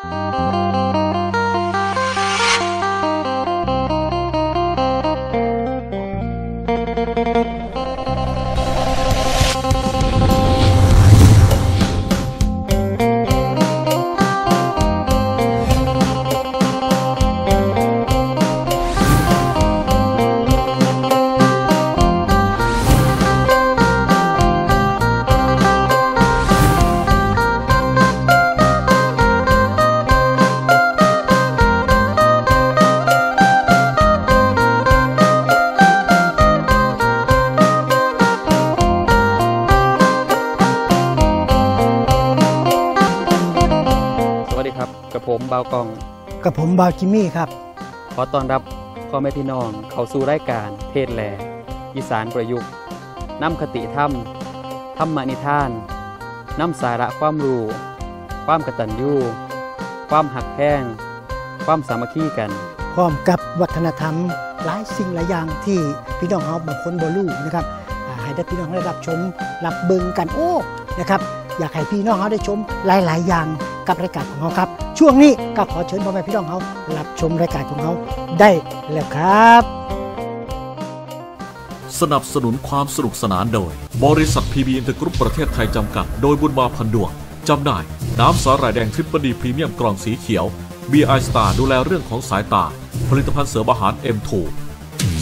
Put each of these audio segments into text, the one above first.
สวัสดีครับ กับผมบ่าวกอง กับผมบ่าวจิมมี่ครับ ขอต้อนรับพ่อแม่พี่น้องเข้าสู่รายการเทศน์แหล่ อีสานประยุกต์ นำคติธรรม ธรรมนิทาน นำสาระความรู้ ความกตัญญู ความฮักแพง ความสามัคคีกัน พร้อมกับวัฒนธรรมหลายสิ่งหลายอย่างที่พี่น้องเฮาบางคนบ่รู้นะครับ อ่า ให้ได้พี่น้องได้รับชม รับเบิ่งกัน โอ้ นะครับ อยากให้พี่น้องเฮาได้ชมหลายๆ อย่างกับรายการของเฮาครับ ช่วงนี้ก็ขอเชิญพ่อแม่พี่น้องเฮารับชมรายการของเฮาได้แล้วครับ สนับสนุนความสนุกสนานโดย บริษัท พี บี Inter Group ประเทศไทย จำกัด โดยบุญมา พันดวง จำหน่าย น้ำสาหร่ายแดง Triple D พรีเมียม กล่องสีเขียว บี ไอ Star ดูแลเรื่องของสายตา ผลิตภัณฑ์เสริมอาหาร เอ็ม ทู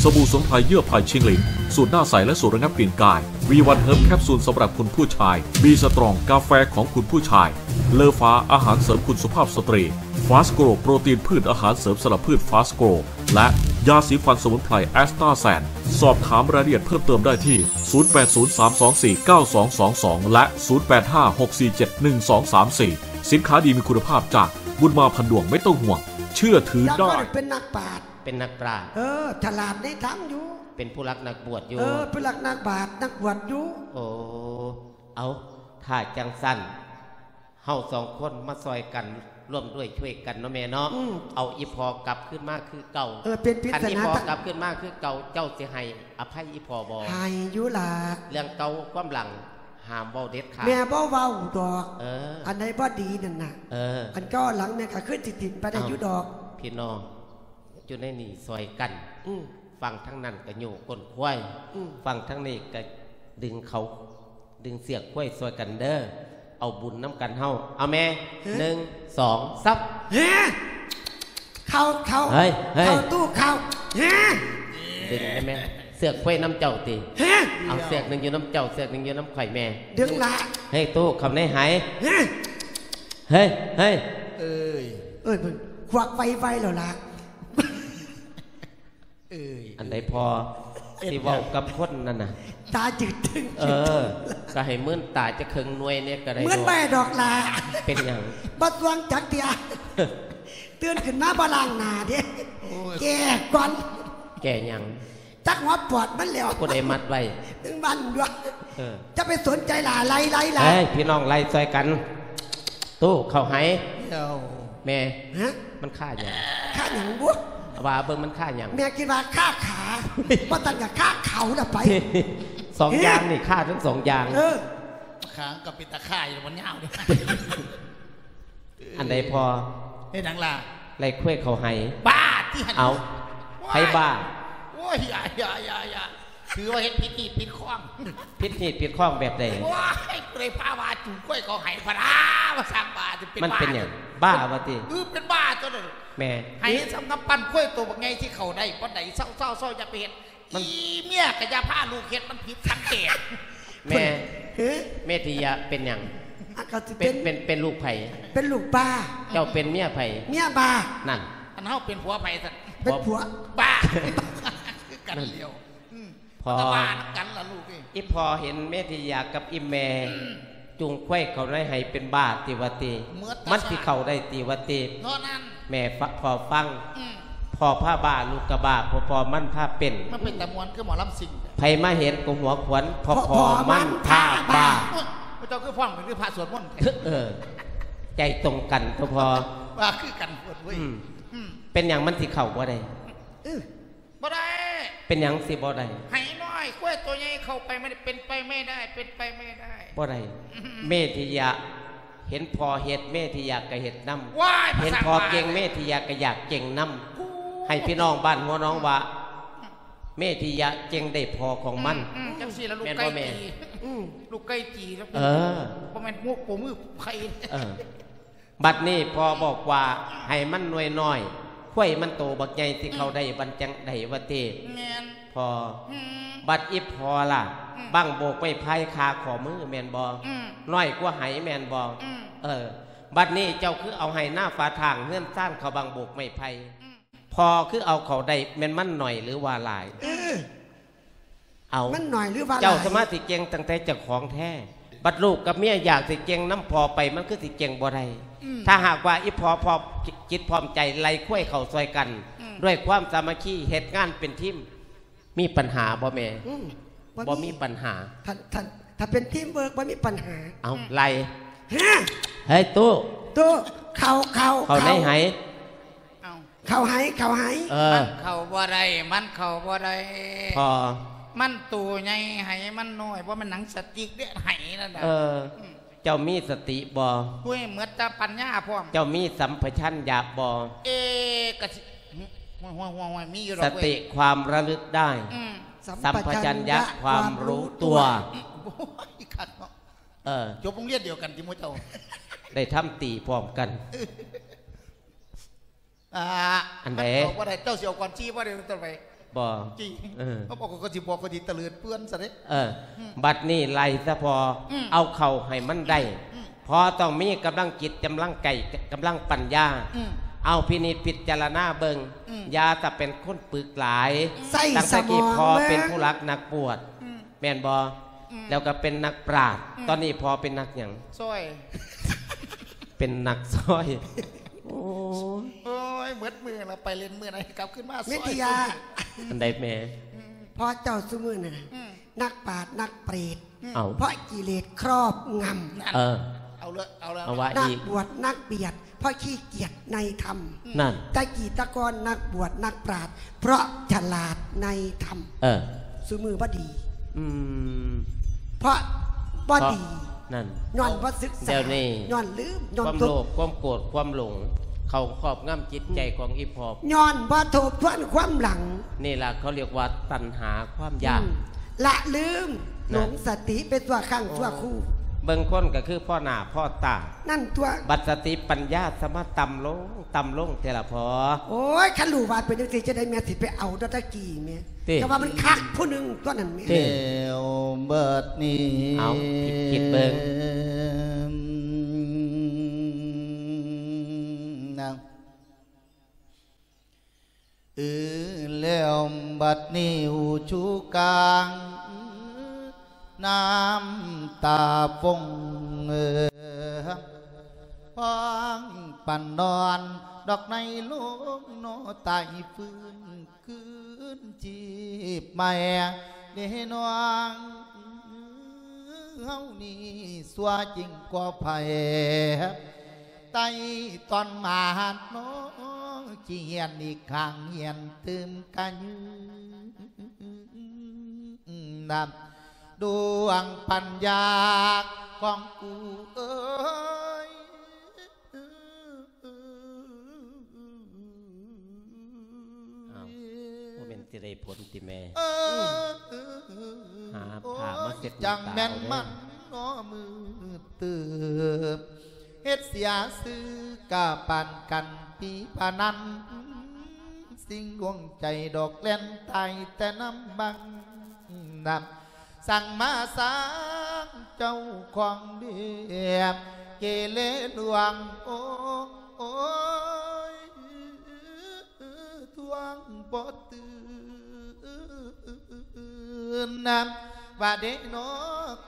สบู่สมุนไพรเยื่อไผ่ชิงหลิน สูตรหน้าใสและสูตรระงับกลิ่นกาย วี วัน Herb แคปซูลสำหรับคุณผู้ชาย B Strong กาแฟของคุณผู้ชาย เลอฟ้า อาหารเสริมคุณสุภาพสตรี Fast Grow โปรตีนพืช อาหารเสริมสำหรับพืช Fast Grow และยาสีฟันสมุนไพร Astasan สอบถามรายละเอียดเพิ่มเติมได้ที่ ศูนย์แปดศูนย์ สามสองสี่ เก้าสองสองสอง และ ศูนย์แปดห้า หกสี่เจ็ด หนึ่งสองสามสี่ สินค้าดีมีคุณภาพจากบุญมา พันดวง ไม่ต้องห่วง เชื่อถือได้ เป็นนักปราชญ์ เป็นนักปราชญ์ เออ ฉลาดในธรรมอยู่ เป็นผู้รักนักบวชอยู่ เออ ผู้รักนักบาตร นักบวชอยู่ โอ้ เอา ถ้าจั่งซั้น เฮาสองคนมาซ่อยกัน ร่วมด้วยช่วยกันเนาะแม่เนาะ อืม เอาอีพ่อกลับคืนมาคือเก่า เออ เป็นปริศนา คันอีพ่อกลับคืนมาคือเก่า เจ้าสิให้อภัยอีพ่อบ่ ให้อยู่ล่ะ เรื่องเก่าความหลัง ห้ามเว้าเด็ดขาด แม่บ่เว้าดอก เออ อันใดบ่ดีนั่นน่ะ เออ อันเก่าหลังแม่ก็คือสิถิ่มไปได้อยู่ดอก พี่น้อง อยู่ในนี่ซ่อยกัน อืม ฟังทางนั้นก็โยกก้นควาย อืม ฟังทางนี้ก็ดึงเขา ดึงเสือกควายซ่อยกันเด้อ เอาบุญนำกันเฮา เอาแม่ ฮะ หนึ่ง สอง สาม ฮะ เข้า เข้า เฮ้ย เฮ้ย เข้าตู้เข้า ฮะ ดึงได้แม่ เสือกควายนำเจ้าติ ฮะ เอาเสือกหนึ่งอยู่นำเจ้า เสือกหนึ่งอยู่นำข่อยแม่ ดึงละ เฮ้ย ตู้เข้าในไห ฮะ เฮ้ย เฮ้ย เอ้ย เอ้ย มันควักไวๆแล้วล่ะ เอ้ย อันใดพ่อ เอ็ด สิเว้ากับคนนั่นน่ะ ตาจืดตึง เออ ก็ให้มื่นตาจักเคิ่งหน่วยเนี่ยก็ได้ มื่น เนาะ บ่ดอกล่ะ เป็นหยัง บ่ส่วงจักเทื่อ ตื่นขึ้นมาบ่ล้างหน้าเด้ โอ้ย แก้ก่อน แก้หยัง จักหัวปอดมันแล้ว ผู้ใดมัดไว้ ถึงบ้านด้วย เออ จะไปสนใจหล่า ไล่ ไล่ ไล่ เฮ้ย พี่น้องไล่ซ่อยกัน ตู้เข้าไห เดี๋ยว แม่ ฮะ มันค่าหยัง ค่าหยังบุ ว่าเบิ่งมันค่าหยัง แม่คิดว่าค่าขา บ่ตันกับค่าเขาน่ะไป สองอย่างนี่ค่าทั้งสองอย่าง เออ ขางกับเป็นตาข่ายมันยาวเลย อันใดพ่อ เฮ็ดหยังล่ะ ไล่ควายเข้าไห บ้าติหั่น เอา ว้าย ไผบ้า โอ้ย อย่า อย่า อย่า อย่า ถือว่าเฮ็ดผิดฮีดผิดคอง ผิดฮีดผิดคองแบบใด ว้าย ผู้ใดพาว่าจูงควายเข้าไหพะนา มาสร้างบ้า สิเป็น มันเป็นหยัง บ้า บ้าว่าติ เออ เป็นบ้าตัวนั้น แม่ ไหส่ำกำปั้นควายตัวบักใหญ่ที่เข้าได้ปานใด เซาๆๆ อย่าไปเฮ็ด มัน อีเมียก็อย่าพาลูกเฮ็ด มันผิดสังเกต แม่ เฮ้ย เมธิยะเป็นหยัง อ่ะ ก็สิ เป็น เป็น เป็น เป็นลูกไผ เป็นลูกบ้า เจ้าเป็นเมียไผ เมียบ้า นั่น อันเฮาเป็นผัวไผซั่น เป็นผัว บ้า คือกันเดียว อืม พ่อ มันก็บ้านำกันล่ะลูกเอ้ย อีพ่อเห็นเมธิยะกับอีแม่ อืม จูงควายเข้าในไหเป็นบ้าติว่าติ เมิด มันสิเข้าได้ติว่าติ เท่านั้น แม่ฟ- พ่อฟัง อืม พ่อพาบ้า ลูกก็บ้า พ่อๆ มันพาเป็น มันเป็นตาม่วนคือหมอลำซิ่ง ไผมาเห็นก็หัวขวัญ พ่อๆ มันพาบ้า โอ๊ย พระเจ้าคือฟ้องเป็นคือพระสวดมนต์แท้ เออ ใจตรงกันตัวพ่อ ว่าคือกันหมดเว้ย อืม อืม เป็นหยังมันสิเข้าบ่ได้ เออ บ่ได้ เป็นหยังสิบ่ได้ ไหน้อยควายตัวใหญ่เข้าไปไม่ได้ เป็นไปไม่ได้ เป็นไปไม่ได้ บ่ได้ อืม เมธิยะ ເຫັນພໍ່ເຮັດ ເມທິຍະກໍເຮັດນຳ. ວ້າຍ ເຫັນພໍ່ເກັ່ງ ພາສາ ເມທິຍະກໍຢາກເກັ່ງນຳ. ໂອ້ ໃຫ້ພີ່ນ້ອງບ້ານຫົວໜອງວ່າ ເມທິຍະເກັ່ງໄດ້ພໍ່ຂອງມັນ. ອືມ ອືມ ຈັ່ງຊີ້ລະ ລູກໄກ່ ແມ່ນບໍ່ແມ່? ຈີ່ ອືມ ລູກໄກ່ຈີ່ລະ. ເອີ ບໍ່ແມ່ນໝູກໂປມືໄຂ່. ເອີ ບັດນີ້ພໍ່ບອກວ່າ ໃຫ້ມັນໜ່ວຍນ້ອຍ ຄວາຍມັນໂຕບັກໃຫຍ່ ຊິເຂົ້າ ອືມ ໄດ້ບັນຈັງໃດວະເຕ? ແມ່ນ ພໍ່. ອືມ ບັດອີ່ພໍ່ລະ? ອືມ ບັ້ງໂບກໄມ້ໄຜ່ຄາຂໍ້ມືແມ່ນບໍ່? ອືມ ນ້ອຍກວ່າໄຫແມ່ນບໍ່? ອືມ ເອີ ບັດນີ້ເຈົ້າຄືເອົາໄຫນາຝາທາງເຮືອນຊານເຂົ້າບັ້ງໂບກໄມ້ໄຜ່? ອືມ ພໍ່ຄືເອົາເຂົ້າໄດ້ ແມ່ນມັນໜ້ອຍຫຼືວ່າຫຼາຍ? ເອີ ເອົາ ມັນໜ້ອຍຫຼືວ່າຫຼາຍ? ເຈົ້າສາມາດຊິເກັ່ງຕັ້ງແຕ່ເຈົ້າຂອງແທ້ ບັດລູກກັບເມຍຢາກຊິເກັ່ງນຳພໍ່ໄປ ມັນຄືຊິເກັ່ງບໍ່ໄດ້. ອືມ ຖ້າຫາກວ່າອີ່ພໍ່ພ້ອມຈິດພ້ອມໃຈໄລ່ຄວາຍເຂົ້າຊ່ອຍກັນ ອືມ ດ້ວຍຄວາມສາມັກຄີ ເຮັດງານເປັນທີມ ມີປັນຫາບໍ່ແມ່? ອືມ ບໍ່ມີ ບໍ່ມີປັນຫາ. ຖ້າ ຖ້າ ຖ້າເປັນທີມເວີກບໍ່ມີປັນຫາ. ເອົາ ອືມ ໄລ່ ຮະ ເຮີ້ຍ ຕູ້ ຕູ້ ເຂົ້າ ເຂົ້າ ເຂົ້າໃນໄຫ. ເອົາ ເຂົ້າໄຫ ເຂົ້າໄຫ. ເອີ ມັນເຂົ້າບໍ່ໄດ້ ມັນເຂົ້າບໍ່ໄດ້ ພໍ່. ມັນໂຕໃຫຍ່ ໄຫມັນນ້ອຍ ບໍ່ແມ່ນໜັງສະຕິກເດ້ ໄຫນັ້ນນະ. ເອີ ອືມ ເຈົ້າມີສະຕິບໍ່? ໂອ້ຍ ໝົດແຕ່ປັນຍາພ້ອມ. ເຈົ້າມີສຳປະຊັນຍະບໍ່? ເອ ກະຊິ ໂອ້ຍ ໂອ້ຍ ໂອ້ຍ ມີຢູ່ດອກເວີຍ ສະຕິຄວາມລະລຶກໄດ້. ອືມ ສຳປະຊັນຍະຄວາມຮູ້ຕົວ. ໂອ້ຍ ຄັກເນາະ. ເອີ ຈົບໂຮງຮຽນດຽວກັນຕິໝູ່ເຈົ້າ? ໄດ້ທຳຕີພ້ອມກັນ. ອ່າ ອັນໃດ? ມັນອອກບໍ່ໄດ້ ເຈົ້າຊິເອົາກ່ອນຊີ້ບໍ່ໄດ້ ຕົ້ນໄປ ບໍ່ ຈີ່ ເອີ ເຂົາບອກ ເຂົາຊິບອກ ເຂົາຊິຕະເຫຼີດເປື້ອນຊະເດ້. ເອີ ອືມ ບັດນີ້ໄລ່ຊະພໍ່ ອືມ ເອົາເຂົ້າໃຫ້ມັນໄດ້. ອືມ ພໍ່ຕ້ອງມີກຳລັງຈິດ ກຳລັງໃຈ ກຳລັງປັນຍາ. ອືມ ເອົາພິນິດພິຈາລະນາເບິ່ງ. ອືມ ຢ່າແຕ່ເປັນຄົນປຶກຫຼາຍ. ໃຊ້ສະໝອງ ຕັ້ງແຕ່ກີ້ພໍ່ເປັນຜູ້ຫຼັກນັກບວດ. ອືມ ແມ່ນບໍ່? ອືມ ແລ້ວກໍເປັນນັກປາດ. ອືມ ຕອນນີ້ພໍ່ເປັນນັກຫຍັງ? ຊອຍ. ເປັນນັກຊອຍ. ໂອ້ຍ ໂອ້ຍ ໝົດມື້ລະ ໄປຫຼິ້ນມື້ໃດກັບຄືນມາຊອຍ. ເມທິຍາ ອັນໃດແມ່? ອືມ ພໍ່ເຈົ້າຊຸມື້ນີ້ນະ ອືມ ນັກປາດນັກເປດ. ອືມ ເອົາ ເພາະກິເລດຄອບງຳ. ເອີ ເອົາເລີຍ ເອົາເລີຍ ເອົາວ່າອີກ ນັກບວດນັກບຽດ ເພາະຂີ້ກຽດໃນທຳ. ນັ້ນ ແຕ່ກີ້ແຕ່ກ່ອນນັກບວດນັກປາດ ເພາະສະຫຼາດໃນທຳ. ເອີ ຊຸມື້ບໍ່ດີ. ອືມ ເພາະບໍ່ດີ. ນັ້ນ ຍ້ອນບໍ່ສຶກສາ. ດຽວນີ້ ຍ້ອນລືມ ຍ້ອນ ຄວາມໂລບ ຄວາມໂກດ ຄວາມຫຼົງ ເຂົ້າຄອບງຳຈິດໃຈ ອືມ ຂອງອີ່ພໍ່ ຍ້ອນບໍ່ທົບທວນຄວາມຫຼັງ. ນີ້ລະເຂົາຮຽກວ່າຕັນຫາຄວາມຢາກ. ອືມ ລະລືມ ນະ ຫຼົງສະຕິໄປຊົ່ວຄັ້ງຊົ່ວຄູ. ເບິ່ງຄົນກໍຄືພໍ້ໜ້າພໍ້ຕາ. ນັ້ນຕົວະ ບັດສະຕິປັນຍາສະມາຕ່ຳລົງ ຕ່ຳລົງແທ້ລະພໍ່. ໂອ້ຍ ຄັນຮູ້ວ່າເປັນຈັ່ງຊີ້ ຈັ່ງໃດແມ່ຊິໄປເອົາດອກຕະກີ້ແມ່. ຕິ ແຕ່ວ່າມັນຄັກຜູ້ໜຶ່ງຕົວະນັ້ນແມ່. ຕິ ແລ້ວບັດນີ້ ເອົາ ຄິດ ຄິດເບິ່ງ ນະ. ເອີ ແລ້ວບັດນີ້ອູຊູກາງ ນ້ຳຕາຟົງ ເອີ ພ້ອງປັນນອນ ດອກໃນໂລງ ນອຕາຍຟື້ນຄືນຊີບໃໝ່ ເດນ້ອງ ເຮົານີ້ຊົ່ວຈິງກວ່າໃຜ ໄຕ່ຕອນມາຫານ້ອງ ຊິຮຽນອີກຄັ້ງ ຮຽນຕື່ມກະຍືນນຳ ດວງປັນຍາຂອງກູເອີຍ. ອ້າວ ບໍ່ແມ່ນຊິໄດ້ຜົນຕິແມ່? ຫາຜ້າມາເຊັດນ້ຳຕາເອົາເດີ້. ໂອ້ຍ ຈັ່ງແມ່ນມັນນໍມືດຕື່ມ ເຮັດເສຍຊື່ກະປານກັນປີພະນັນ ຊິງດວງໃຈດອກແລ່ນຕາຍແຕ່ນ້ຳບັງນຳ ສັ່ງມາສ້າງເຈົ້າຂອງເດບ ເກເລລວງ ໂອ້ຍ ທວງບໍ່ຕື່ນນຳ ວ່າເດເນາະ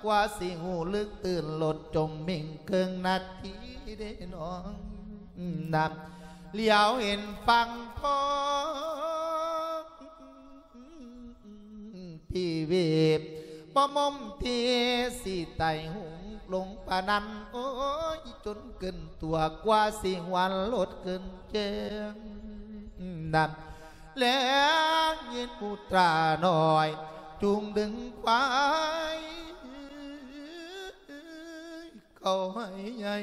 ກວ່າຊິຮູ້ລຶກຕື່ນ ລົດຈົມເມັງເຄິ່ງນາທີເດນ້ອງນຳ ຫຼຽວເຫັນຝັ່ງພ້ອງ ພີເວບບໍ່ໝົມທີ່ຊິໄຕ່ຫຸງລົງປານນັ້ນ ໂອ້ຍ ຈົນເກີນຕົວ ກວ່າຊິຫວນລົດເກີນແຈ້ງນຳ ແລງຍິນຜູ້ຕານ້ອຍ ຈູງດຶງຄວາຍ ເອົາໃຫ້ໃຫຍ່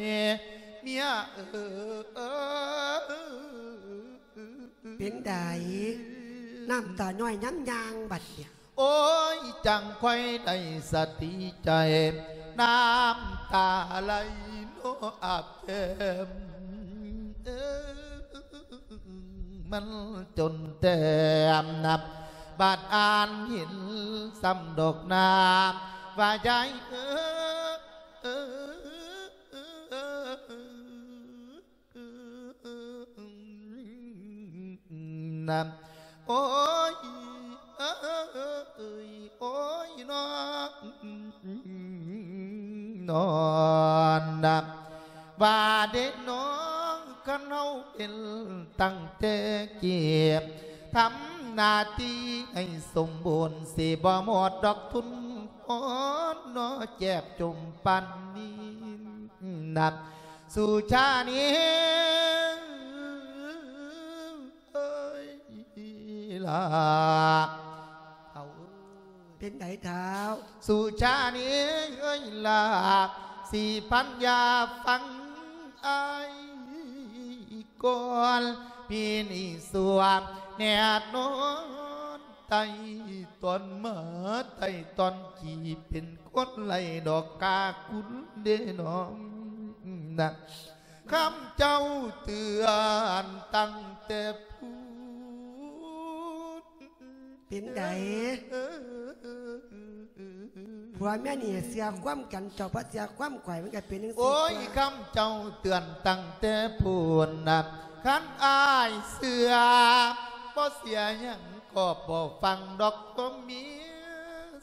ເມຍເອີຍ. ເປັນໃດ ນ້ຳຕາຍ້ອຍຍາມຍ່າງບັດເນີ້ຍ? ໂອ້ຍ ຈັ່ງຄ່ອຍໄດ້ສະຕິໃຈ ນ້ຳຕາໄຫຼເນາະອາບແກ້ມ ມັນຈົນແຕ້ມນຳ ບາດອ່ານເຫັນຊ້ຳດອກນາ ວ່າຍາຍເອີຍ ນຳ ໂອ້ຍ ເອີຍ ໂອ້ຍ ນ້ອງ ນອນນຳ ວ່າເດ້ນ້ອງ ຄັນເຮົາເປັນຕັ້ງແຕ່ກີ້ ທຳໜ້າທີ່ໃຫ້ສົມບູນ ຊິບໍ່ໝົດດອກທຶນພອນ ເນາະແຈບຈົມປານນີ້ນຳ ສຸຊານີເອີຍລາ ເຖົ້າເອີຍ. ເປັນໃດທ້າວ? ສຸຊານີເອີຍລາ ຊິພັນຢາຟັງອ້າຍກ່ອນ ປີນີ້ສວມແນບນອນ ໄຕ່ຕອນມາ ໄຕ່ຕອນຂີ່ ເປັນຄົນໄລ່ດອກກາກຸນເດ້ນ້ອງນະ ຄຳເຈົ້າເຕືອນຕັ້ງແຕ່ພຸ້ນ. ເປັນໃດ? ຜົວເມຍນີ້ເຊື່ອຄວາມກັນ ເຈົ້າບໍ່ເຊື່ອຄວາມຂ້ອຍ ມັນກໍເປັນຈັ່ງຊີ້. ໂອ້ຍ ຄຳເຈົ້າເຕືອນຕັ້ງແຕ່ພຸ້ນນະ ຄັນອ້າຍເຊື່ອ ບໍ່ເສຍຫຍັງກໍບໍ່ຟັງດອກ ຕົວເມຍ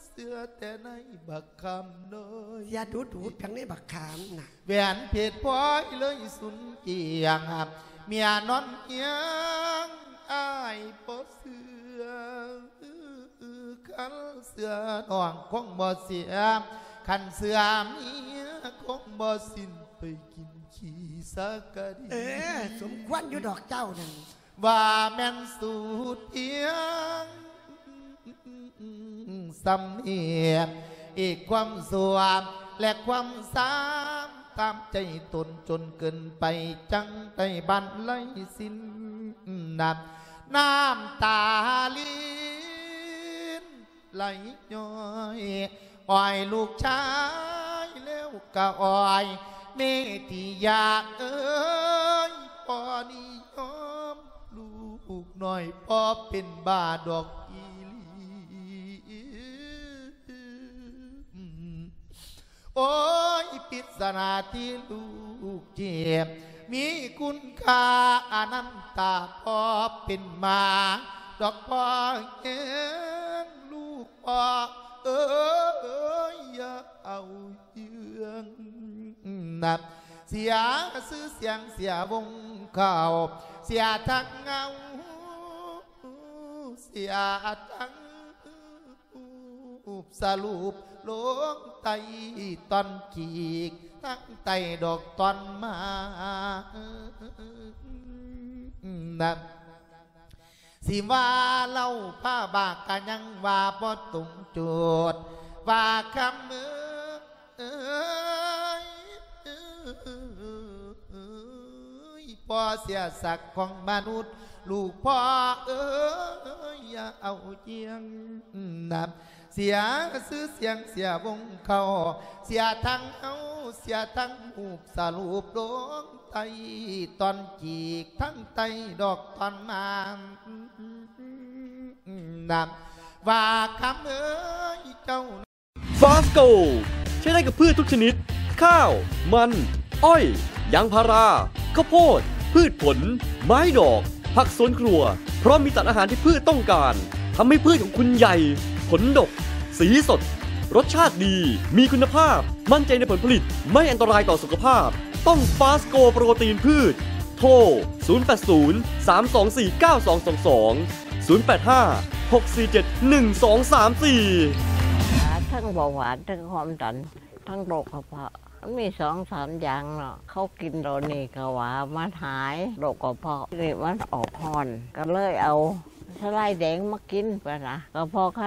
ເຊື່ອແຕ່ໃນບັກ ຄຳນ້ອຍ ຢ່າດູດໆ ຈັ່ງໃດບັກຂາມນະ ແຫວນເພັດພອຍເລີຍສຸນກ້ຽງ ເມຍນອນຮຽງອ້າຍບໍ່ເຊື່ອ ຄັນເຊື່ອນ້ອງຄົງບໍ່ເສຍ ຄັນເຊື່ອເມຍຄົງບໍ່ສິ້ນ ໄປກິນຂີ້ສາກະດີ. ເອີ ສົມຄວນຢູ່ດອກເຈົ້ານັ້ນ ວ່າແມ່ນສູດພຽງສ່ຳນີ້ ອີກຄວາມຊົ່ວ ແລະ ຄວາມຊາມຕາມໃຈຕົນຈົນເກີນໄປ ຈັ່ງໄດ້ບັນໄລສິນນຳ ນ້ຳຕາລິນ ໄຫຼຍ້ອຍ ອ້ອຍລູກຊາຍແລ້ວກະອ້ອຍເມຕິຍາເອີຍ ພໍ່ນິຍົມລູກນ້ອຍ ພໍ່ເປັນບ້າດອກອີ່ຫຼີ. ໂອ້ຍ ພິດສະໜາທີ່ລູກເຈັບ ມີຄຸນຄ່າອະນັນຕາ ພໍ່ເປັນໝາດອກພໍ່ແຮງ ລູກພໍ່ເອີຍ ຢ່າເອົາເຫຍື່ອງນຳ ເສຍຊື່ສຽງ ເສຍວົງເຂົ້າ ເສຍທັງເງົາ ເສຍທັງ ຮູບສະຫຼຸບລົງໃຕ້ຕອນກີກ ທັງໃຕ້ດອກຕອນມານຳ ຊິວ່າເລົ່າພາບາກກະຍັງວ່າບໍ່ຕົງໂຈດ ວ່າຄຳເອີຍ ເອີຍ ພໍ່ເສຍສັກຂອງມະນຸດ ລູກພໍ່ເອີຍ ຢ່າເອົາຈຽງນຳ ເສຍຊື່ສຽງ ເສຍວົງເຂົ້າ ເສຍທັງເຮົາ ເສຍທັງຮູບສະຫຼຸບລົງໃຕ້ຕອນກີກ ທັງໃຕ້ດອກຕອນມານນຳ ວ່າຄຳເອີຍ ເຈົ້າ Fast Go ໃຊ້ໄດ້ກັບພືດທຸກຊະນິດ ຂ້າວ, ມັນ, ອ້ອຍ, ຢາງພາລາ, ເຂົ້າໂພດ, ພືດຜົນ, ໄມ້ດອກ, ຜັກສວນຄົວ ເພາະມີສານອາຫານທີ່ພືດຕ້ອງການ ທຳໃຫ້ພືດຂອງຄຸນໃຫຍ່, ຜົນດົກ, ສີສົດ, ລົດຊາດດີ, ມີຄຸນນະພາບ, ໝັ້ນໃຈໃນຜົນຜະລິດ, ໄມ່ອັນຕະລາຍຕໍ່ສຸຂະພາບ. ຕ້ອງ Fast Go ໂປຣຕີນພືດ. ໂທ ສູນແປດສູນ ສາມສອງສີ່ ເກົ້າສອງສອງສອງ ສູນແປດຫ້າ ຫົກສີ່ເຈັດ ໜຶ່ງສອງສາມສີ່. ທັງເບົາຫວານ ທັງຄວາມດັນ ທັງໂລກກະເພາະ ມັນມີສອງສາມຢ່າງເນາະ ເຂົາກິນໂຕນີ້ກະວ່າມັນຫາຍໂລກກະເພາະ ນີ້ມັນອອກຮ້ອນ ກະເລີຍເອົາສະໄລແດງມາກິນ ປະນະ ກະເພາະໄຄ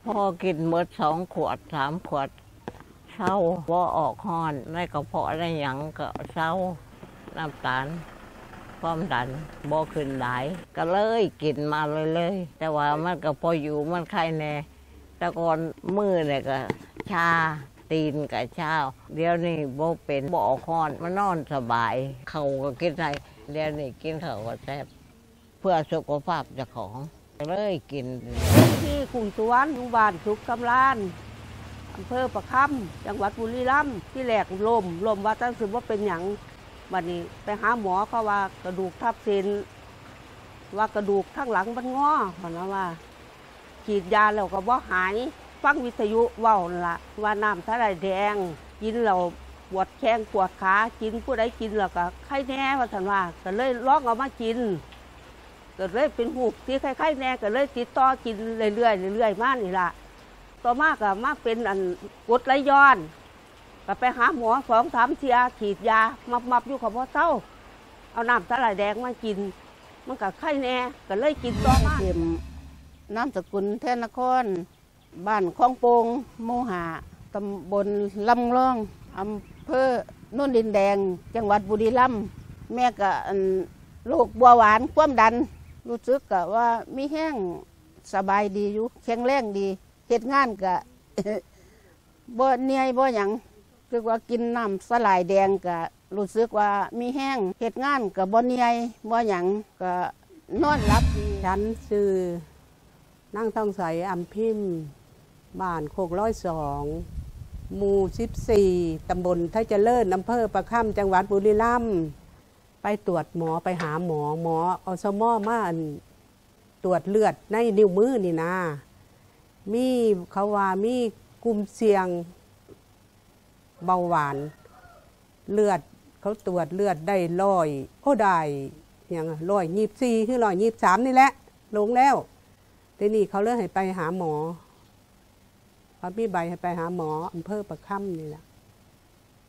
ພໍກິນໝົດສອງຂວດສາມຂວດ ເຊົາ ບໍ່ອອກຮ້ອນ ໃນກະເພາະໃນຫຍັງກໍເຊົາ ນ້ຳຕານ ຄວາມດັນບໍ່ຂຶ້ນຫຼາຍ ກໍເລີຍກິນມາເລື້ອຍໆ ແຕ່ວ່າມັນກໍພໍຢູ່ ມັນໄຄແດ່. ແຕ່ກ່ອນມືນີ້ກໍຊາ ຕີນກໍຊາ ດຽວນີ້ບໍ່ເປັນ ບໍ່ອອກຮ້ອນ ມານອນສະບາຍ ເຂົ້າກໍກິນໄດ້ ດຽວນີ້ກິນເຂົ້າກໍແຊບ ເພື່ອສຸຂະພາບເຈົ້າຂອງ ກໍເລີຍກິນ. ຊື່ ກຸ້ມສວນ ຢູ່ບ້ານສຸກສຳລານ ອຳເພີປາຄຳ ຈັງຫວັດບຸລີລຳ. ທີແລກລົ້ມ ລົ້ມວ່າຈັ່ງຊິບໍ່ເປັນຫຍັງ ບັດນີ້ໄປຫາໝໍ ເຂົາວ່າກະດູກທັບເສັ້ນ ວ່າກະດູກທາງຫຼັງມັນງໍ ເພິ່ນວ່າ. ສີດຢາແລ້ວກໍບໍ່ຫາຍ ຟັງວິທະຍຸເວົ້າຫັ້ນລະ ວ່ານ້ຳສາຫຼ່າຍແດງ ກິນແລ້ວປວດແຂ້ງປວດຂາ ກິນ ຜູ້ໃດກິນແລ້ວກໍໄຄແດ່ ວ່າຊັ້ນວ່າ ກໍເລີຍລອງເອົາມາກິນ ກໍເລີຍເປັນຮູບທີ່ໄຄໆແດ່ ກໍເລີຍຕິດຕໍ່ກິນເລື້ອຍໆ ເລື້ອຍໆມານີ້ລະ. ຕໍ່ມາກໍມາເປັນອັນ ກົດໄຫຼຍ້ອນ ກໍໄປຫາໝໍສອງສາມເທື່ອ ສີດຢາມັບໆຢູ່ກໍບໍ່ເຊົາ ເອົານ້ຳສາຫຼ່າຍແດງມາກິນ ມັນກໍໄຄແດ່ ກໍເລີຍກິນຕໍ່ມາ. ເອີມ ນາມສະກຸນ ແທນນະຄອນ ບ້ານຄອງໂປ່ງ ໝູ່ຫ້າ ຕຳບົນລຳງອງ ອຳເພີໂນນດິນແດງ ຈັງຫວັດບຸລີລຳ. ແມ່ກໍ ອັນ ໂລກເບົາຫວານ ຄວາມດັນ ຮູ້ສຶກກໍວ່າມີແຮງ ສະບາຍດີຢູ່ ແຂງແຮງດີ ເຮັດງານກໍ ບໍ່ເມື່ອຍບໍ່ຫຍັງ ຄືວ່າກິນນ້ຳສາຫຼ່າຍແດງກະຮູ້ສຶກວ່າມີແຮງ ເຮັດງານກະບໍ່ເມື່ອຍບໍ່ຫຍັງ ກະນອນຫຼັບດີ. ສັນຊື່ ນາງທອງໃສ ອຳພິມ ບ້ານໂຄກລອຍສອງ ໝູ່ສິບສີ່ ຕຳບົນໄທຈະເລີນ ອຳເພີປາຄຳ ຈັງຫວັດບຸລີລຳ. ໄປຕວດໝໍ ໄປຫາໝໍ ໝໍ ອສມ ມາ ອັນ ຕວດເລືອດໃນນິ້ວມືນີ້ນາ ມີ ເຂົາວ່າມີກຸ່ມສ່ຽງເບົາຫວານ ເລືອດ ເຂົາຕວດເລືອດໄດ້ຮ້ອຍ ໂອ້ ໄດ້ຫຍັງ ຮ້ອຍຊາວສີ່ ຫຼື ຮ້ອຍຊາວສາມນີ້ແຫຼະ ລົງແລ້ວ. ທີນີ້ເຂົາເລີຍໃຫ້ໄປຫາໝໍ ເຂົາມີໃບໃຫ້ໄປຫາໝໍ ອຳເພີປາຄຳນີ້ລະ.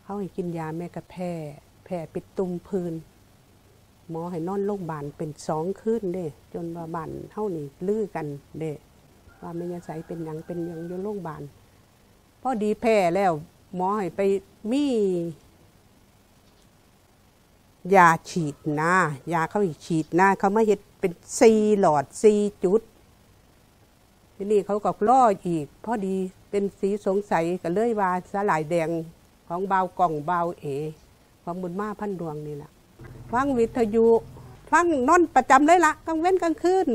ເຂົາໃຫ້ກິນຢາແມ່ກະແພ້ ແພ້ເປັນຕຸ່ມຜື່ນ ໝໍໃຫ້ນອນໂລງບານເປັນສອງຄືນເດ້ ຈົນວ່າບ້ານເຮົານີ້ລືກັນເດ້ ວ່າແມ່ຍາໃສເປັນຫຍັງ ເປັນຫຍັງຢູ່ໂລງບານ. ພໍດີແພ້ແລ້ວ ໝໍໃຫ້ໄປມີຢາສີດນາ ຢາເຂົາໃຫ້ສີດນາ ເຂົາມາເຮັດເປັນສີ່ຫຼອດ ສີ່ຈຸດ. ທີນີ້ເຂົາກໍລໍອີກ ພໍດີເປັນສີສົງໄສ ກໍເລີຍວ່າສາຫຼ່າຍແດງຂອງບ່າວກ້ອງ ບ່າວເອ ຂອງບຸນມາ ພັນດວງນີ້ລະ. ຟັງວິທະຍຸ ຟັງນອນປະຈຳເລີຍລະ ກາງເວັນກາງຄືນ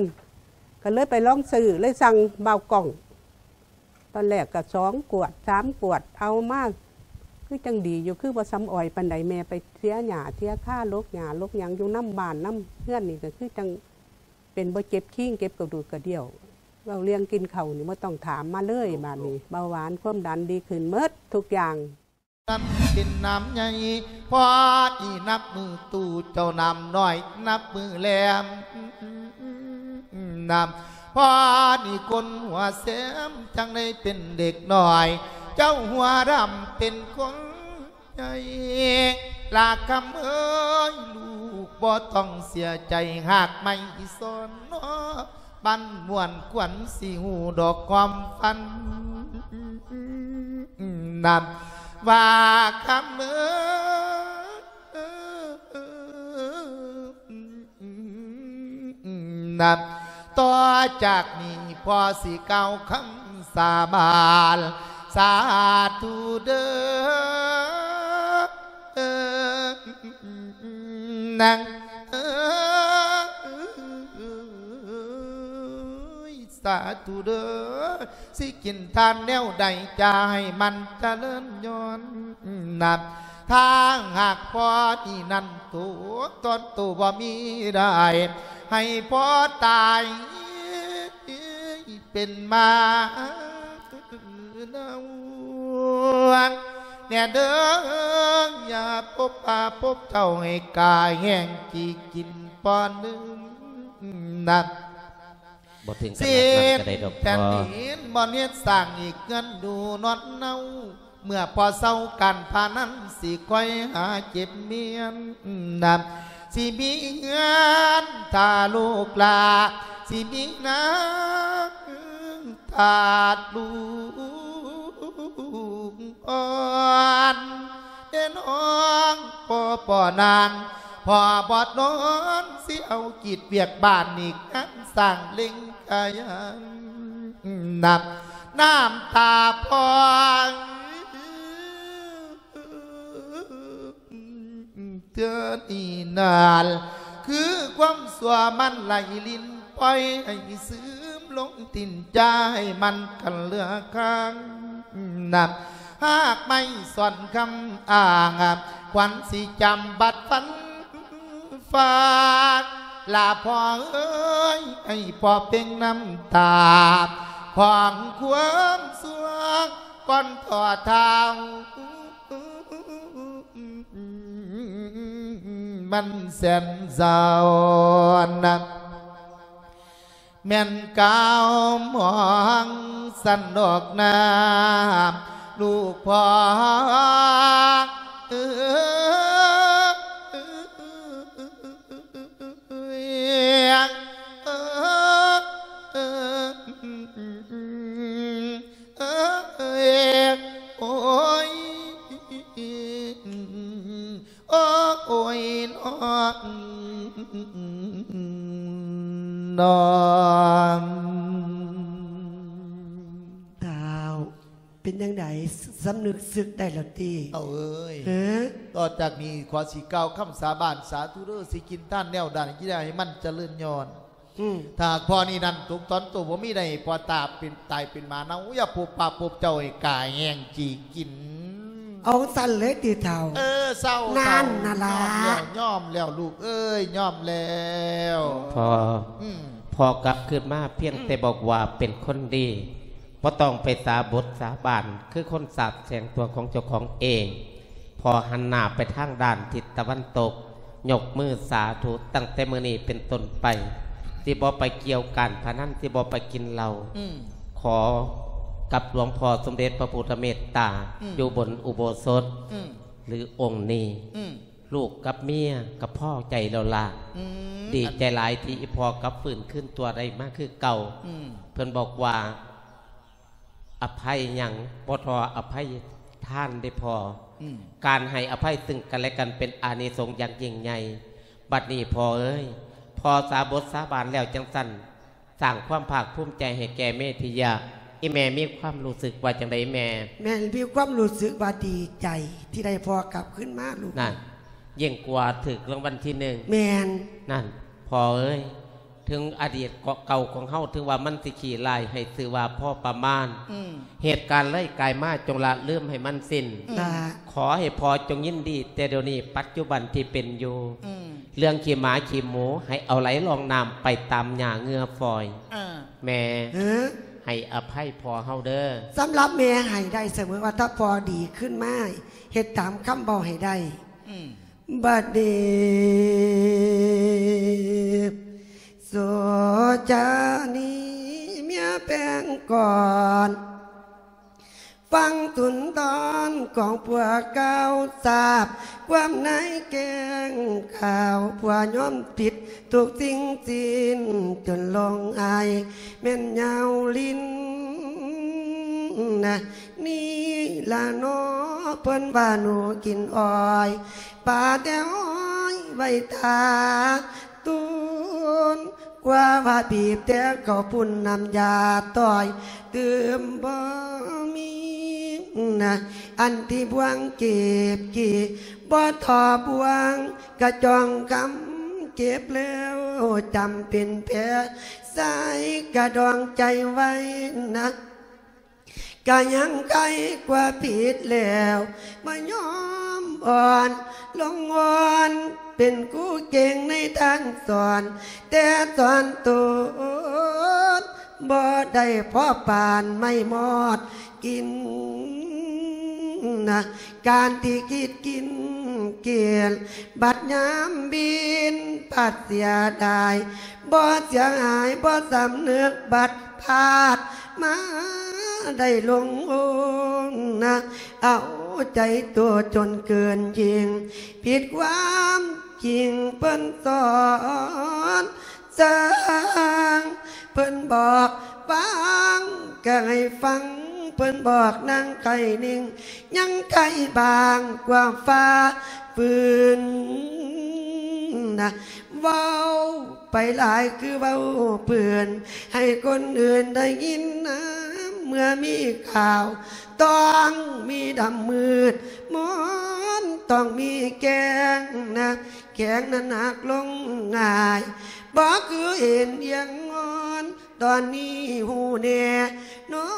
ກໍເລີຍໄປລອງຊື້ ເລີຍສັ່ງບ່າວກ້ອງ. ຕອນແລກກໍສອງຂວດ ສາມຂວດ ເອົາມາ ຄືຈັ່ງດີຢູ່ ຄືບໍ່ສ່ຳອອຍປານໃດ. ແມ່ໄປເສຍຫຍ້າເສຍຄາ ຫຼົກຫຍ້າຫຼົກຫຍັງຢູ່ນຳບ້ານນຳເຮືອນນີ້ ກໍຄືຈັ່ງ ເປັນບໍ່ເຈັບຄີງ ເຈັບກະດູກກະດ່ຽວ. ເວົ້າເລື່ອງກິນເຂົ້ານີ້ບໍ່ຕ້ອງຖາມມາເລີຍ ບາດນີ້ເບົາຫວານຄວາມດັນດີຂຶ້ນໝົດທຸກຢ່າງ. ນັ້ນເປັນນ້ຳໃຫຍ່ ພໍອີນັບມື້ຕູ້ເຈົ້ານ້ຳນ້ອຍ ນັບມື້ແຫຼມ ນ້ຳ ພໍນີ້ຄົນຫົວແສມ ຈັ່ງໄດ້ເປັນເດັກນ້ອຍ ເຈົ້າຫົວດຳເປັນຄົນ ໃຫຍ່ ລາຄຳເອີຍ ລູກບໍ່ຕ້ອງເສຍໃຈ ຮາກໄມ້ສອນນອ ປັ້ນມ່ວນຂວັນ ຊິຮູ້ດອກຄວາມຝັນ ນຳ ວ່າຄຳເອີຍ ນັບຕໍ່ຈາກນີ້ ພໍ່ຊິກ່າວຄຳສາບານ ສາທຸເດີ ນາງເອີຍ ສາທຸເດີ ຊິກິນທານແນວໃດ ຈະໃຫ້ມັນຈະເລີນຍ້ອນ ນັບ ຖ້າຫາກພໍ່ນີ້ນັ້ນໂຕ ຕອນໂຕບໍ່ມີໄດ້ ໃຫ້ພໍ່ຕາຍເປັນໝາເນົ່າ ແນ່ເດີ ຢ່າພົບພາພົບເຈົ້າ ໃຫ້ກາຍແຫ້ງກີ່ກິນປ້ອນໜຶ່ງ ນັບ ບໍ່ເຖິງຂະໜາດນັ້ນກໍໄດ້ດອກພໍ່ ແຜ່ນດິນບໍ່ເຮັດສ້າງອີກເຮືອນຢູ່ນອນເນົາ ເມື່ອພໍ່ເຊົາການພານັ້ນ ຊິຄອຍຫາເຈັບມຽນນຳ ຊິມີເຮືອນຖ້າລູກຫຼ້າ ຊິມີນາງຖ້າລູກ ອ່ອນເດນ້ອງ ພໍ່ ພໍ່ນາງ ພໍ່ບອດນອນ ຊິເອົາກິດວຽກບ້ານ ນີ້ງານສ້າງເລັ່ງຂະຫຍັນ ນ້ຳຕາພອງ ເທື່ອນີ້ນັ້ນ ຄືຄວາມຊົ່ວມັນໄຫຼລິນ ປ່ອຍໃຫ້ຊຶມລົງຕີນ ຢ່າໃຫ້ມັນກັນເຫຼືອຄ້າງ ນຳຮາກໄມ້ສອນຄຳອ້າງ ຄວັນຊິຈຳບັດຟັນຟາດ ລາພໍ່ເອີຍ ໃຫ້ພໍ່ເປັ່ງນ້ຳຕາ ຂອງຄວາມຊົ່ວກ່ອນພໍ່ເຖົ້າ ມັນແສນເສົ້ານະ ແມ່ນກ່າວມອງສັນດອກນາ ລູກພໍ່ເອີຍ ເອີ ເອີ ເອີ ໂອ້ຍ ໂອ້ຍ ນ້ອງ ທ້າວ ເປັນຈັ່ງໃດ? ສຳນຶກສຶກໄດ້ແລ້ວຕິ? ເອົາເອີຍ ເອີ ຕໍ່ຈາກນີ້ ຂໍຊິກ່າວຄຳສາບານ ສາທຸເດີ ຊິກິນທານແນວໃດ ຢ່າໃຫ້ມັນຈະເລີນຍ້ອນ ອືມ ຖ້າຫາກພໍ່ນີ້ນັ້ນຕົກຕອນໂຕບໍ່ມີໄດ້ ພໍ່ຕາເປັນ ຕາຍເປັນໝາເນົ່າ ຢ່າພົບປະພົບເຈົ້າ ໃຫ້ກາຍແຮງຈີກິນ. ເອົາຊັ້ນເລີຍຕິທ້າວ? ເອີ ເຊົາ ນັ້ນນະລະ ຍອມແລ້ວ ຍອມແລ້ວລູກເອີຍ ຍອມແລ້ວ. ພໍ່ ອືມ ພໍ່ກັບຄືນມາພຽງ ອືມ ແຕ່ບອກວ່າເປັນຄົນດີ ບໍ່ຕ້ອງໄປສາບົດສາບານ ຄືຄົນສາບແຊ່ງຕົວຂອງເຈົ້າຂອງເອງ. ພໍ່ຫັນໜ້າໄປທາງດ້ານທິດຕາເວັນຕົກ ຍົກມືສາທຸ ຕັ້ງແຕ່ມື້ນີ້ເປັນຕົ້ນໄປ ຊິບໍ່ໄປກ່ຽວການພະນັນ ຊິບໍ່ໄປກິນເຫຼົ້າ ອືມ ຂໍກັບຫຼວງພໍ່ສົມເດັດພະພຸດທະເມດຕາ ອືມ ຢູ່ບົນອຸໂບສົດ ອືມ ຫຼືອົງນີ້ ອືມ ລູກກັບເມຍກໍພໍໃຈແລ້ວລະ ອືມ ດີໃຈຫຼາຍທີ່ອີ່ພໍ່ກັບຟື້ນຄືນຕົວໄດ້ມາຄືເກົ່າ ອືມ ເພິ່ນບອກວ່າ ອະໄພຫຍັງບໍ່ທໍ່ອະໄພທານເດ້ພໍ່ ອືມ ການໃຫ້ອະໄພຊຶ່ງກັນແລະກັນເປັນອານິສົງຢ່າງຍິ່ງໃຫຍ່. ບັດນີ້ພໍ່ເອີຍ ພໍ່ສາບົດສາບານແລ້ວຈັ່ງຊັ້ນ ສ້າງຄວາມພາກພູມໃຈໃຫ້ແກ່ເມທິຍະ. ອີ່ແມ່ມີຄວາມຮູ້ສຶກວ່າຈັ່ງໃດແມ່? ແມ່ມີຄວາມຮູ້ສຶກວ່າດີໃຈທີ່ໄດ້ພໍ່ກັບຄືນມາລູກ. ນັ້ນ ຍິ່ງກວ່າຖືກລາງວັນທີໜຶ່ງ. ແມ່ນ. ນັ້ນ ພໍ່ເອີຍ ເຖິງອະດີດເກາະເກົ່າຂອງເຮົາ ເຖິງວ່າມັນຊິຂີ້ຮ້າຍ ໃຫ້ຊື່ວ່າພໍປະມານ. ອືມ ເຫດການເລີຍກາຍມາ ຈົ່ງລະລືມໃຫ້ມັນສິ້ນ. ອືມ ຂໍໃຫ້ພໍ່ຈົ່ງຍິນດີແຕ່ດຽວນີ້ ປັດຈຸບັນທີ່ເປັນຢູ່. ອືມ ເລື່ອງຂີ້ໝາຂີ້ໝູ ໃຫ້ເອົາໄຫຼລ່ອງນ້ຳໄປຕາມຫຍ້າເຫຍື້ອຝອຍ. ເອີ ແມ່ ເອີ ໃຫ້ອະໄພພໍ່ເຮົາເດີ. ສຳລັບແມ່ໃຫ້ໄດ້ສະເໝີ ວ່າຖ້າພໍ່ດີຂຶ້ນມາ ເຮັດຕາມຄຳເວົ້າໃຫ້ໄດ້. ອືມ ບັດນີ້ ໂສຈານີເມຍແປງກ່ອນ ຟັງສຸນທອນຂອງພວກເກົ່າ ຊາບຄວາມໃນແກ້ງຂ່າວ ຜົວຍອມຜິດທຸກສິ່ງສິ້ນ ຈົນລົງອາຍແມ່ນຍາວລິນນະ. ນີ້ລະເນາະ ເພິ່ນວ່າໜູກິນອ້ອຍ ປາແຕ່ອ້ອຍໄວ້ຖ້າຕຸນ ກວ່າວ່າບີບແຕ່ເຂົ້າປຸ້ນ ນ້ຳຢາຕ້ອຍຕື່ມບໍ່ມີນະ. ອັນທີ່ບ່ວງເກັບກີ່ ບໍ່ທໍ່ບ່ວງກະຈອງຄຳ ເກັບແລ້ວຈຳເປັນແຜ ໃສ່ກະດອງໃຈໄວ້ນະ. ກະຍັງໄຄກວ່າຜິດແລ້ວ ມາຍອມອ່ອນລົງອ່ອນ ເປັນຄູເກັ່ງໃນທາງສອນ ແຕ່ສອນຕົນ ບໍ່ໄດ້ພໍປານໄມ້ມອດກິນນະ. ການທີ່ຄິດກິນກຽນ ບັດຍາມບິນພັດເສຍດາຍ ບໍ່ເສຍຫາຍ ບໍ່ສຳນຶກ ບັດພາດມາໄດ້ຫຼົງໂອນນະ ເອົາໃຈໂຕຈົນເກີນຍິ່ງ ຜິດຄວາມຈິງເພິ່ນສອນ ຊ່າງເພິ່ນບອກຟັງ ກໍໃຫ້ຟັງ ເພິ່ນບອກນາງໄກ່ນິ່ງ ຍັງໄກ່ບາງກວ່າຟ້າຟືນນະ ເວົ້າໄປຫຼາຍຄືເວົ້າເປື້ອນ ໃຫ້ຄົນອື່ນໄດ້ຍິນນຳ ເມື່ອມີຂ່າວ ຕ້ອງມີດຳມືດມົນ ຕ້ອງມີແກງນະ ແຂງນັ້ນຫັກລົງງ່າຍ ບໍ່ຄືເຫັນຢ່າງງອນ ຕອນນີ້ຮູ້ແນ່ນອ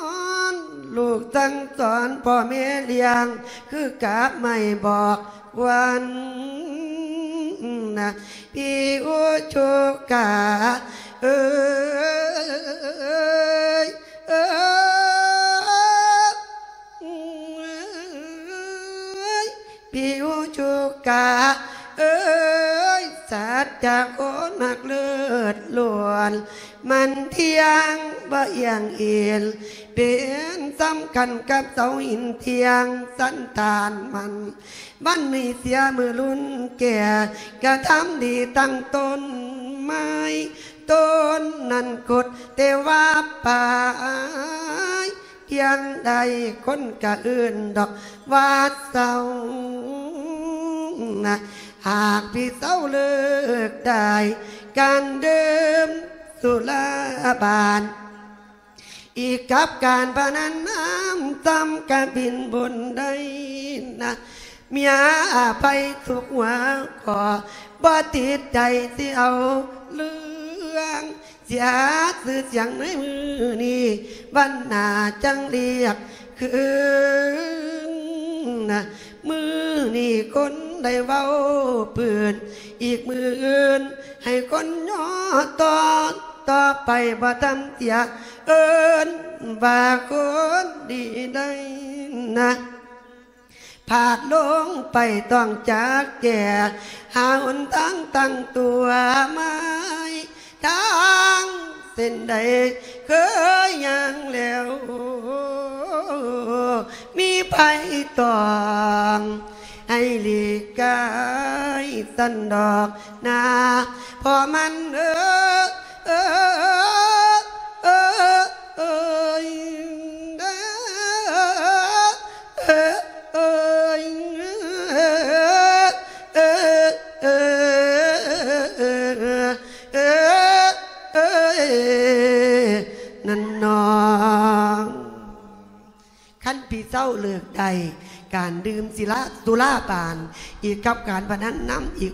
ນ ລູກສັ່ງສອນພໍ່ແມ່ລ້ຽງ ຄືກາບໄມ້ບອກຄວັນນະ ພີ່ອຸຈຸກະເອີຍ ເອີຍ ພີ່ອຸຈຸກະເອີຍ ສັດຈະຄົນຮັກເລີດລ້ວນ ມັນທ່ຽງບໍ່ອ່ຽງອີນ ເປັນສຳຄັນກັບເສົາຫີນທ່ຽງສັນຖານມັນ ວັນນີ້ເສຍມື້ລຸນແກ່ ກະທຳດີຕັ້ງຕົ້ນໄມ້ ຕົ້ນນັ້ນຄົດແຕ່ວ່າປາຍ ທ່ຽງໃດຄົນກະເອີ້ນດອກວ່າເຊົານະ ຫາກພີ່ເຊົາເລີກໄດ້ ການດື່ມສຸລາບານ ອີກກັບການພະນັນນຳ ຊຳກະບິນບຸນໄດ້ນະ ເມຍອະໄພທຸກຫົວຂໍ້ ບໍ່ຕິດໃຈຊິເອົາເລື່ອງ ເສຍຊື່ສຽງໃນມື້ນີ້ ວັນໜ້າຈັ່ງລຽກຄືນນະ ມື້ນີ້ຄົນໄດ້ເວົ້າເປື້ອນ ອີກມື້ອື່ນໃຫ້ຄົນຍໍຕໍ່ ຕໍ່ໄປບໍ່ທຳເສຍເອີ້ນວ່າຄົນດີໄດ້ນະ ພາດລົງໄປຕ້ອງຈັກແກ້ ຫາຫົນທາງຕັ້ງຕົວໃໝ່ ທາງເສັ້ນໃດເຄີຍຍ່າງແລ້ວ ມີໄຜຕ້ອງໃຫ້ຫຼີກກາຍຊັ້ນດອກນາ ເພາະມັນເອີ ເອີ ເອີ ເອີ ເອີ ເອີ ເອີ ເອີ ເອີ ເອີ ເອີ ນັ້ນນ້ອງ ຄັນພີ່ເຊົາເລີກໄດ້ ການດື່ມສິລາ ສຸລາບານ ອີກກັບການພະນັນນຳອີກ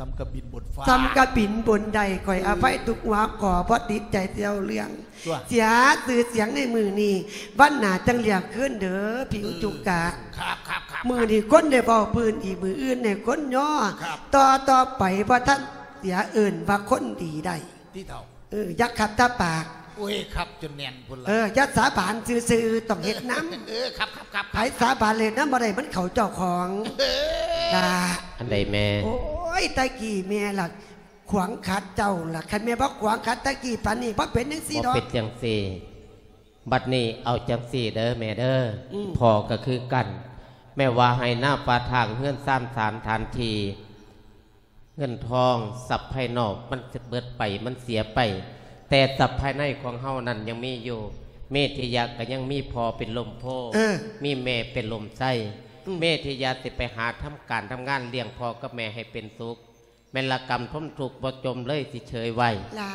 ສ່ຳກະບິນບົນຟ້າ ສ່ຳກະບິນບົນໄດ້ ຂ້ອຍອະໄພທຸກຫົວຂໍ້ ບໍ່ຕິດໃຈຊິເອົາເລື່ອງ ຕົວະ ເສຍຊື່ສຽງໃນມື້ນີ້ ວັນໜ້າຈັ່ງລຽກຄືນເດີ ພີ່ອຸຈຸກະ ອືມ ຄັບ ຄັບ ຄັບ ມື້ນີ້ຄົນໄດ້ເວົ້າພື້ນອີກ ມື້ອື່ນໃຫ້ຄົນຍໍ ຄັບ ຕໍ່ ຕໍ່ໄປບໍ່ທັນເສຍເອີ້ນວ່າຄົນດີໄດ້ ຕິເຖົ້າ ເອີ ຢ່າຂັດຕາປາກ ໂອ້ຍ ຂັດຈົນແໜ້ນພຸ້ນລະ ເອີ ຢ່າສາບານຊື່ໆ ຕ້ອງເຮັດນຳ ເອີ ຄັບ ຄັບ ຄັບ ໃຜສາບານເຮັດນຳບໍ່ໄດ້ ມັນເຂົ້າເຈົ້າຂອງ ເອີ ລະ ອັນໃດແມ່ ໂອ້ຍ ແຕ່ກີ້ແມ່ລະ ຂວາງຂັດເຈົ້າລະ ຄັນແມ່ບໍ່ຂວາງຂັດແຕ່ກີ້ປານນີ້ ບໍ່ເປັນຈັ່ງຊີ້ດອກ ບໍ່ເປັນຈັ່ງຊີ້ ບັດນີ້ເອົາຈັ່ງຊີ້ເດີແມ່ເດີ ອືມ ພໍ່ກໍຄືກັນ ແມ່ວ່າໄຮ່ນາປ່າທາງ ເຮືອນຊານສະຖານທີ່ ເງິນທອງ ຊັບພາຍນອກມັນເບິດໄປ ມັນເສຍໄປ ແຕ່ຊັບພາຍໃນຂອງເຮົານັ້ນຍັງມີຢູ່ ເມທິຍະກໍຍັງມີພໍ່ເປັນລົມໂພ ເອີ ມີແມ່ເປັນລົມໄຊ ອືມ ເມທິຍະຊິໄປຫາທຳການທຳງານລ້ຽງພໍ່ກັບແມ່ໃຫ້ເປັນສຸກ ແມ່ນລະກຳທົນທຸກບໍ່ຈົ່ມເລີຍຊິເຊີຍໄວ້ ຫຼ້າ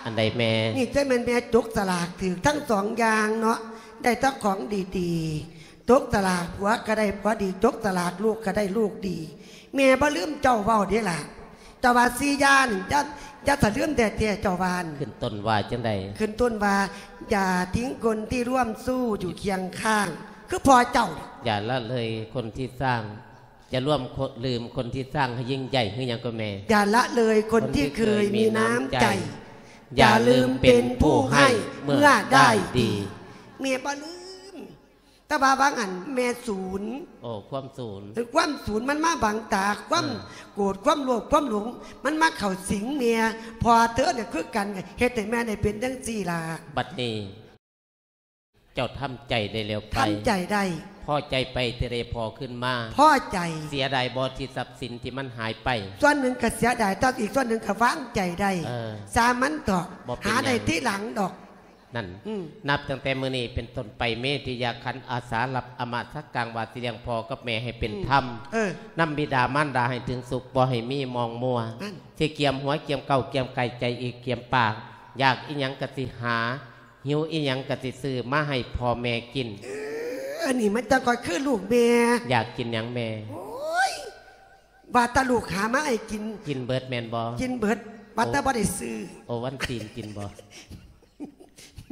ອັນໃດແມ່ ນີ້ຈັ່ງແມ່ນແມ່ຈົກສະຫຼາກຖືກທັງສອງຢ່າງເນາະ ໄດ້ແຕ່ຂອງດີໆ ຈົກສະຫຼາກຜົວກໍໄດ້ຜົວດີ ຈົກສະຫຼາກລູກກໍໄດ້ລູກດີ ແມ່ບໍ່ລືມເຈົ້າເວົ້າເດ້ຫຼ້າ ເຈົ້າວ່າສີ່ຢ່າງນີ້ ຢ່າ ຢ່າສະລືມແທ້ໆ ເຈົ້າວ່າ ຂຶ້ນຕົ້ນວ່າຈັ່ງໃດ ຂຶ້ນຕົ້ນວ່າ ຢ່າทิ้งคนที่ร่วมสู้อยู่เคียงข้าง ຄືພໍ່ເຈົ້າ อย่าละเลยคนที่สร้าง อย่าร่วมคน ลืมคนที่สร้างให้ยิ่งใหญ่ คือหยังก็แม่ อย่าละเลยคนที่เคยมีน้ำใจ คนที่เคยมีน้ำใจ อย่าลืมเป็นผู้ให้เมื่อได้ดี แม่บ่ลืม แต่ว่าบางอันแม่สูน โอ้ ความสูน เออ ความสูนมันมาบังตา ความ เออ โกรธ ความโลภ ความหลง มันมาเข้าสิงแม่ พ่อเธอเนี่ยคือกัน เฮ็ดให้แม่ได้เป็นจังซี่ล่ะ บัดนี้ เจ้าทำใจได้แล้วไป ทำใจได้ พอใจไปที่ได้พ่อขึ้นมา พอใจ เสียดายบ่ที่ทรัพย์สินที่มันหายไป ส่วนหนึ่งก็เสียดาย แต่อีกส่วนหนึ่งก็วางใจได้ เออ ซ่างมันเถาะ บ่เป็นหยัง หาได้ทีหลังดอก ນັ້ນ ອືມ ນັບຕັ້ງແຕ່ມື້ນີ້ເປັນຕົ້ນໄປ ເມທິຍາຂັນອາສາຮັບອາມາສະກັງ ວ່າຊິລ້ຽງພໍ່ກັບແມ່ໃຫ້ເປັນທຳ ອືມ ເອີ ນຳບິດາມານດາໃຫ້ເຖິງສຸກ ບໍ່ໃຫ້ມີໝອງມົວ ນັ້ນ ຊິກຽມຫົວກຽມເກົ້າກຽມໄກ່ ໃຈອີກກຽມປາກ ຢາກອີ່ຫຍັງກໍຊິຫາ ຫິວອີ່ຫຍັງກໍຊິຊື້ມາໃຫ້ພໍ່ແມ່ກິນ. ເອີ ອັນນີ້ມັນຈັ່ງຄ່ອຍຄືລູກແມ່. ຢາກກິນຫຍັງແມ່? ໂອ້ຍ ວ່າແຕ່ລູກຫາມາໃຫ້ກິນ ກິນເບິດແມ່ນບໍ່? ກິນເບິດ ວ່າແຕ່ ໂອ້ ບໍ່ໄດ້ຊື້. ໂອ້ ວັນຕີນກິນບໍ່?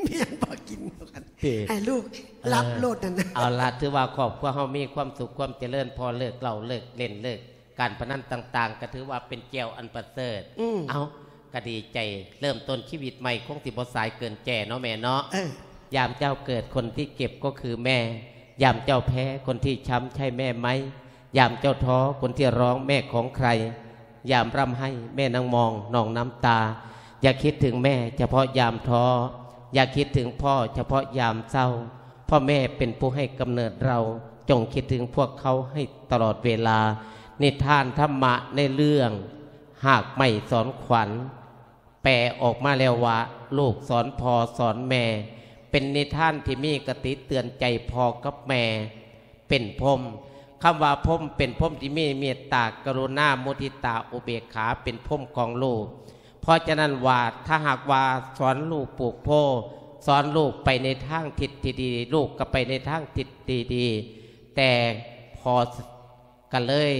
ແມ່ນບໍ່ກິນດອກ ຕິ ໃຫ້ລູກ ເອີ ຫຼັບໂລດນັ້ນນະ. ເອົາລະ ຖືວ່າຄອບຄົວເຮົາມີຄວາມສຸກຄວາມຈະເລີນ ພໍເລີກເຫຼົ້າເລີກເຫຼັ້ນເລີກການພະນັນຕ່າງໆ ກໍຖືວ່າເປັນແຈ່ວອັນປະເສີດ. ອືມ ເອົາ ກໍດີໃຈ ເລີ່ມຕົ້ນຊີວິດໃໝ່ ຄົງຊິບໍ່ສາຍເກີນແຈເນາະແມ່ເນາະ. ເອີ ຍາມເຈົ້າເກີດ ຄົນທີ່ເຈັບກໍຄືແມ່ ຍາມເຈົ້າແພ້ ຄົນທີ່ຊ້ຳໃຊ່ແມ່ໄໝ? ຍາມເຈົ້າທໍ້ ຄົນທີ່ຮ້ອງແມ່ຂອງໃຄ? ຍາມຮ່ຳໄຫ້ ແມ່ນາງມອງ ໜອງນ້ຳຕາ. ຢ່າຄິດເຖິງແມ່ສະເພາະຍາມທໍ້ ຢ່າຄິດເຖິງພໍ່ສະເພາະຍາມເສົ້າ ເພາະແມ່ເປັນຜູ້ໃຫ້ກຳເນີດເຮົາ. ຈົ່ງຄິດເຖິງພວກເຂົາໃຫ້ຕະຫຼອດເວລາ. ນິທານທຳມະໃນເລື່ອງຮາກໄມ້ສອນຂວັນ ແປອອກມາແລ້ວວ່າ ລູກສອນພໍ່ສອນແມ່ ເປັນນິທານທີ່ມີຄະຕິເຕືອນໃຈພໍ່ກັບແມ່ ເປັນພົມ. ຄຳວ່າພົມ ເປັນພົມທີ່ມີເມດຕາ ກະລຸນາ ມຸທິຕາ ອຸເບກຂາ ເປັນພົມຂອງລູກ. ເພາະສະນັ້ນວ່າ ຖ້າຫາກວ່າສອນລູກປູກໂພ ສອນລູກໄປໃນທາງທິດທີ່ດີ ລູກກໍໄປໃນທາງທິດທີ່ດີ. ແຕ່ພໍ ກໍເລີຍ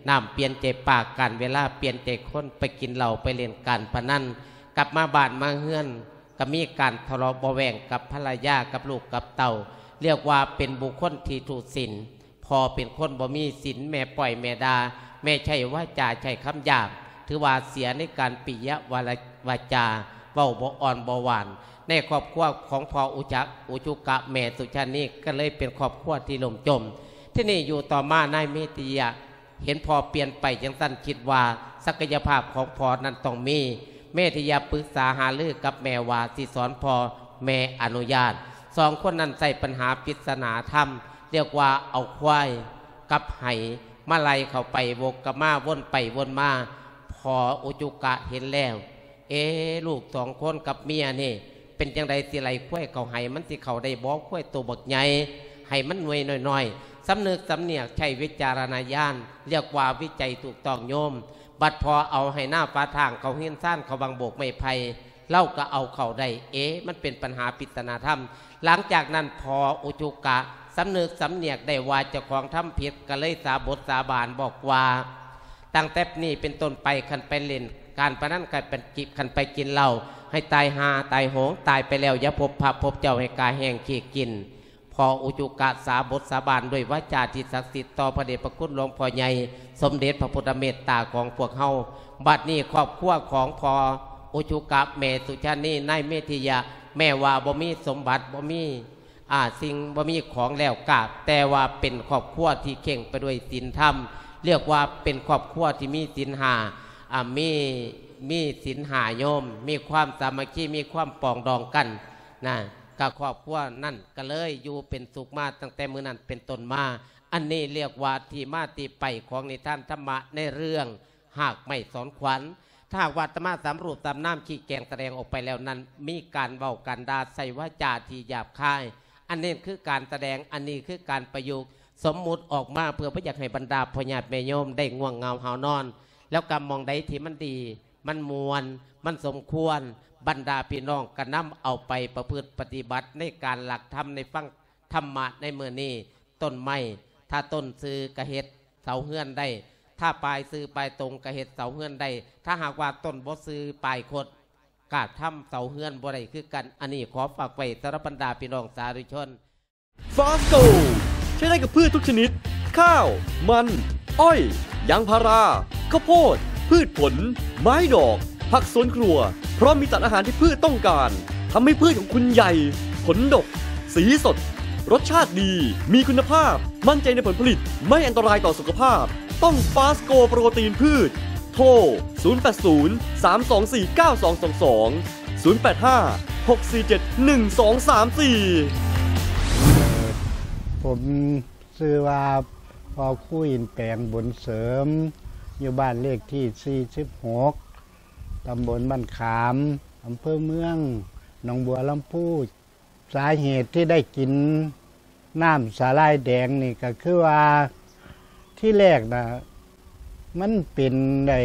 ນ້ຳປ່ຽນໃຈປາ ການເວລາປ່ຽນໃຈຄົນ ໄປກິນເຫຼົ້າ ໄປຫຼິ້ນການພະນັນ ກັບມາບ້ານມາເຮືອນ ກໍມີການທະເລາະເບາະແວ້ງກັບພັນລະຍາ ກັບລູກກັບເຕົ້າ. ລຽກວ່າເປັນບຸກຄົນທີ່ທຸສິນ ພໍ່ເປັນຄົນບໍ່ມີສິນ ແມ່ປ້ອຍແມ່ດ່າ ແມ່ໃຊ້ວາຈາໃຊ້ຄຳຫຍາບ ຖືວ່າເສຍໃນການປິຍະວາລະ ວາຈາ ເວົ້າບໍ່ອ່ອນບໍ່ຫວານ. ໃນຄອບຄົວຂອງພໍ່ອຸຈັກ ອຸຈຸກະ ແມ່ສຸຊານີ ກໍເລີຍເປັນຄອບຄົວທີ່ລົ້ມຈົມ. ທີນີ້ຢູ່ຕໍ່ມາ ນາຍເມທິຍະ ເຫັນພໍ່ປ່ຽນໄປຈັ່ງຊັ້ນ ຄິດວ່າສັກກະຍະພາບຂອງພໍ່ນັ້ນຕ້ອງມີ. ເມທິຍະປຶກສາຫາລືກັບແມ່ວ່າຊິສອນພໍ່ ແມ່ອະນຸຍາດ. ສອງຄົນນັ້ນໃຊ້ປັນຫາປິດສະໜາທຳ ລຽກວ່າເອົາຄວາຍກັບໄຫມາໄລ່ເຂົ້າໄປ ວົກກັບມາ ວົນໄປວົນມາ. ພໍ່ອຸຈຸກະເຫັນແລ້ວ ເອ ລູກສອງຄົນກັບເມຍນີ້ ເປັນຈັ່ງໃດ ຊິໄລ່ຄວາຍເຂົ້າໄຫ ມັນຊິເຂົ້າໄດ້ບໍ່? ຄວາຍໂຕບັກໃຫຍ່ ໄຫມັນໜ່ວຍນ້ອຍໆ. ສຳນຶກສຳນຽກ ໃຊ້ວິຈາລະນະຍານ ລຽກວ່າວິໄຈຖືກຕ້ອງໂຍມ. ບັດພໍ່ເອົາໄຫນາຝາທາງ ເຂົ້າເຮືອນຊານ ເຂົ້າບັງໂບກໄມ້ໄຜ່ ລາວກໍເອົາເຂົ້າໄດ້. ເອ ມັນເປັນປັນຫາປິດສະໜາທຳ. ຫຼັງຈາກນັ້ນ ພໍ່ອຸຈຸກະສຳນຶກສຳນຽກໄດ້ວ່າ ເຈົ້າຂອງທຳຜິດ ກໍເລີຍສາບົດສາບານບອກວ່າ ຕັ້ງແຕ່ນີ້ເປັນຕົ້ນໄປ ຄັນໄປຫຼິ້ນການພະນັນ ຄັນໄປກິ ຄັນໄປກິນເຫຼົ້າ ໃຫ້ຕາຍຫ່າຕາຍໂຫງ ຕາຍໄປແລ້ວຢ່າພົບພະພົບເຈົ້າ ໃຫ້ກາແຫ້ງຂີ້ກິນ. ພໍ່ອຸຈຸກະສາບົດສາບານດ້ວຍວາຈາທີ່ສັກສິດຕໍ່ພະເດດພະຄຸນຫຼວງພໍ່ໃຫຍ່ ສົມເດັດພະພຸດທະເມດຕາຂອງພວກເຮົາ. ບັດນີ້ຄອບຄົວຂອງພໍ່ອຸຈຸກະ ແມ່ສຸຊານີ ນາຍເມທິຍະ ແມ້ວ່າບໍ່ມີສົມບັດ ບໍ່ມີ ອ່າ ສິ່ງ ບໍ່ມີຂອງແລ້ວກະ ແຕ່ວ່າເປັນຄອບຄົວທີ່ເຄັ່ງໄປດ້ວຍສິນທຳ ລຽກວ່າເປັນຄອບຄົວທີ່ມີສິນຫ້າ ອ່າ ມີ ມີສິນຫ້າໂຍມ ມີຄວາມສາມັກຄີ ມີຄວາມປອງດອງກັນນະ ກະຄອບຄົວນັ້ນກະເລີຍຢູ່ເປັນສຸກມາຕັ້ງແຕ່ມື້ນັ້ນເປັນຕົ້ນມາ. ອັນນີ້ລຽກວ່າທີ່ມາທີ່ໄປຂອງນິທານທຳມະໃນເລື່ອງ ຮາກໄມ້ສອນຂວັນ. ຖ້າຫາກວ່າອາດຕະມາສາມຮູບສາມນາມ ຂີ້ແກງສະແດງອອກໄປແລ້ວນັ້ນ ມີການເວົ້າການດ່າ ໃຊ້ວາຈາທີ່ຫຍາບຄາຍ ອັນນີ້ຄືການສະແດງ ອັນນີ້ຄືການປະຍຸກສົມມຸດອອກມາ ເພື່ອບໍ່ຢາກໃຫ້ບັນດາພໍ່ຍາດແມ່ໂຍມໄດ້ງ່ວງເຫງົາຫາວນອນ. ແລ້ວກໍໝ່ອງໃດທີ່ມັນດີ ມັນມ່ວນ ມັນສົມຄວນ ບັນດາພີ່ນ້ອງກໍນຳເອົາໄປປະພຶດປະຕິບັດໃນການຫຼັກທຳ ໃນຟັງທຳມະໃນມື້ນີ້. ຕົ້ນໄມ້ ຖ້າຕົ້ນຊື່ກໍເຮັດເສົາເຮືອນໄດ້ ຖ້າປາຍຊື່ປາຍຕົງກໍເຮັດເສົາເຮືອນໄດ້. ຖ້າຫາກວ່າຕົ້ນບໍ່ຊື່ປາຍຄົດ ກະທຳເສົາເຮືອນບໍ່ໄດ້ຄືກັນ. ອັນນີ້ຂໍຝາກໄວ້ສຳລັບບັນດາພີ່ນ້ອງສາທຸຊົນ. ຟາສໂກ ໃຊ້ໄດ້ກັບພືດທຸກຊະນິດ ຂ້າວ ມັນ ອ້ອຍ ຢາງພາລາ ເຂົ້າໂພດ ພືດຜົນ ໄມ້ດອກ ຜັກສວນຄົວ ເພາະມີສານອາຫານທີ່ພືດຕ້ອງການ ທຳໃຫ້ພືດຂອງຄຸນໃຫຍ່ ຜົນດົກ ສີສົດ ລົດຊາດດີ ມີຄຸນນະພາບ ໝັ້ນໃຈໃນຜົນຜະລິດ ໄມ່ອັນຕະລາຍຕໍ່ສຸຂະພາບ ຕ້ອງຟາສໂກໂປຣຕີນພືດ. ໂທ ສູນແປດສູນ ສາມສອງສີ່ ເກົ້າສອງສອງສອງ ສູນແປດຫ້າ ຫົກສີ່ເຈັດ ໜຶ່ງສອງສາມສີ່. ເອີ ຜົມຊື່ວ່າ ພໍ່ຄູອິນແປງ ບຸນເສີມ ຢູ່ບ້ານເລກທີສີ່ສິບຫົກ ຕຳບົນບ້ານຂາມ ອຳເພີເມືອງ ໜອງບົວລຳພູ. ສາເຫດທີ່ໄດ້ກິນນ້ຳສາຫຼ່າຍແດງນີ້ກໍຄືວ່າ ທີແລກນະ ມັນເປັນໄດ້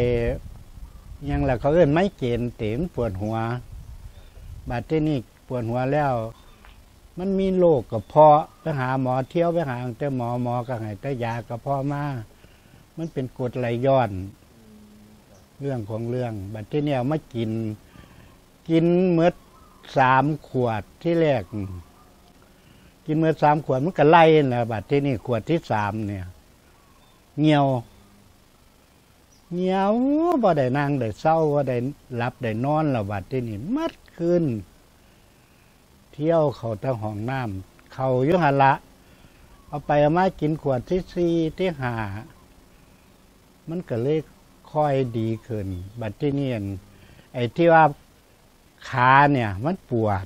ຫຍັງລະ ເຂົາເອີ້ນໄມເກຣນເຕ ມັນປວດຫົວ. ບາດທີນີ້ປວດຫົວແລ້ວ ມັນມີໂລກກະເພາະ ໄປຫາໝໍ ທ່ຽວໄປຫາແຕ່ໝໍ ໝໍກໍໃຫ້ແຕ່ຢາກະເພາະມາ ມັນເປັນກົດໄຫຼຍ້ອນ ເລື່ອງຂອງເລື່ອງ. ບາດທີນີ້ເອົາມາກິນ ກິນໝົດສາມຂວດ ທີແລກ ກິນໝົດສາມຂວດ ມັນກໍໄລ່ຫັ້ນແຫຼະ. ບາດທີນີ້ຂວດທີສາມນີ້ ຫ່ຽວ ຫ່ຽວ ບໍ່ໄດ້ນັ່ງໄດ້ເຊົາ ບໍ່ໄດ້ຫຼັບໄດ້ນອນແລ້ວ. ບາດທີນີ້ໝົດຄືນ ທ່ຽວເຂົ້າແຕ່ຫ້ອງນ້ຳ ເຂົ້າຢູ່ຫັ້ນລະ ເອົາໄປເອົາມາກິນຂວດທີສີ່ ທີຫ້າ ມັນກໍເລີຍຄ່ອຍດີຂຶ້ນ. ບາດທີນີ້ ອັນ ໄອ້ທີ່ວ່າຂານີ້ມັນປວດ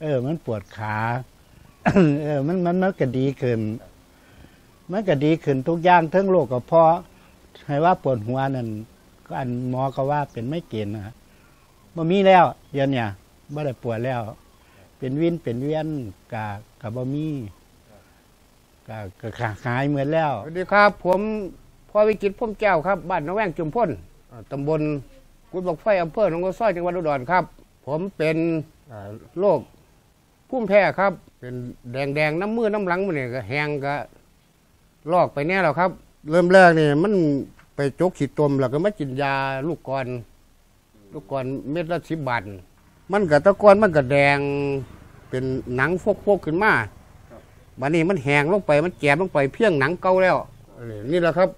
ເອີ ມັນປວດຂາ ເອີ ມັນ ມັນ ມັນກໍດີຂຶ້ນ ມັນກໍດີຂຶ້ນທຸກຢ່າງ ເຖິງໂລກກະເພາະ ໃຫ້ວ່າປວດຫົວນັ້ນ ກໍອັນໝໍກໍວ່າເປັນໄມເກຣນນະ ບໍ່ມີແລ້ວ ດຽວນີ້ບໍ່ໄດ້ປວດແລ້ວ ເປັນວິນເປັນວຽນກະ ກະບໍ່ມີ ກະ ກະ ກະຫາຍໝົດແລ້ວ. ສະຫວັດດີຄັບ ຜົມ ພໍ່ວິຈິດ ພົມແກ້ວ ຄັບ ບ້ານໜອງແວງ ຈຸມພົນ ເອີ ຕຳບົນກຸດບັກໄຟ ອຳເພີໜອງໂຮຊອຍ ຈັງຫວັດອຸດອນຄັບ. ຜົມເປັນ ເອີ ໂລກພູມແພ້ຄັບ ເປັນແດງໆ ນຳມືນຳຫຼັງ ມື້ນີ້ກະແຫ້ງກະ ລອກໄປແດ່ແລ້ວຄັບ. ເລີ່ມແລກນີ້ມັນໄປຈົກຂີ້ຕົມ ແລ້ວກໍມາກິນຢາລູກກອນ ລູກກອນເມັດລະສິບບາດ ມັນກະ ແຕ່ກ່ອນມັນກະແດງເປັນໜັງຟົກໆຂຶ້ນມາ ບາດນີ້ມັນແຫ້ງລົງໄປ ມັນແຈມລົງໄປພຽງໜັງເກົ່າແລ້ວ. ນີ້ລະຄັບ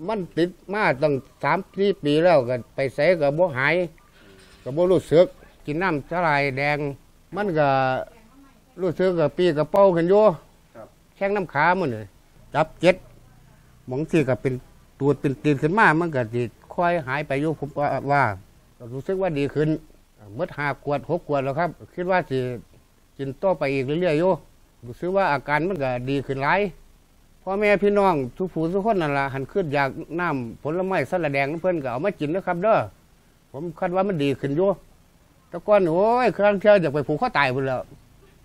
ມັນຕິດມາຕັ້ງສາມສີ່ປີແລ້ວ ກະໄປໃສກະບໍ່ຫາຍ ກະບໍ່ຮູ້ສຶກ. ກິນນ້ຳສາຫຼ່າຍແດງ ມັນກະ ຮູ້ສຶກກະປີ້ກະເປົ່າຂຶ້ນຢູ່ ແຂ້ງນຳຂາມື້ນີ້ ຈັບເຈັດ ບາງທີກະເປັນຕູດເປັນຕີນຂຶ້ນມາ ມັນກະຊິຄ່ອຍຫາຍໄປຢູ່ ຜົມວ່າ ກະຮູ້ສຶກວ່າດີຂຶ້ນ ໝົດຫ້າຂວດຫົກຂວດແລ້ວຄັບ. ຄິດວ່າຊິກິນຕໍ່ໄປອີກເລື້ອຍໆຢູ່ ຮູ້ສຶກວ່າອາການມັນກະດີຂຶ້ນຫຼາຍ. ພໍ່ແມ່ພີ່ນ້ອງທຸກຜູ້ທຸກຄົນນັ້ນລະ ຄັນຄຶດຢາກນ້ຳຜົນລະໄມ້ສາຫຼ່າຍແດງນຳເພິ່ນ ກະເອົາມາກິນເດີຄັບເດີ. ຜົມຄາດວ່າມັນດີຂຶ້ນຢູ່ ແຕ່ກ່ອນ ໂອ້ຍ ບາງເທື່ອຢາກໄປຜູກຄໍຕາຍພຸ້ນແຫຼ້ວ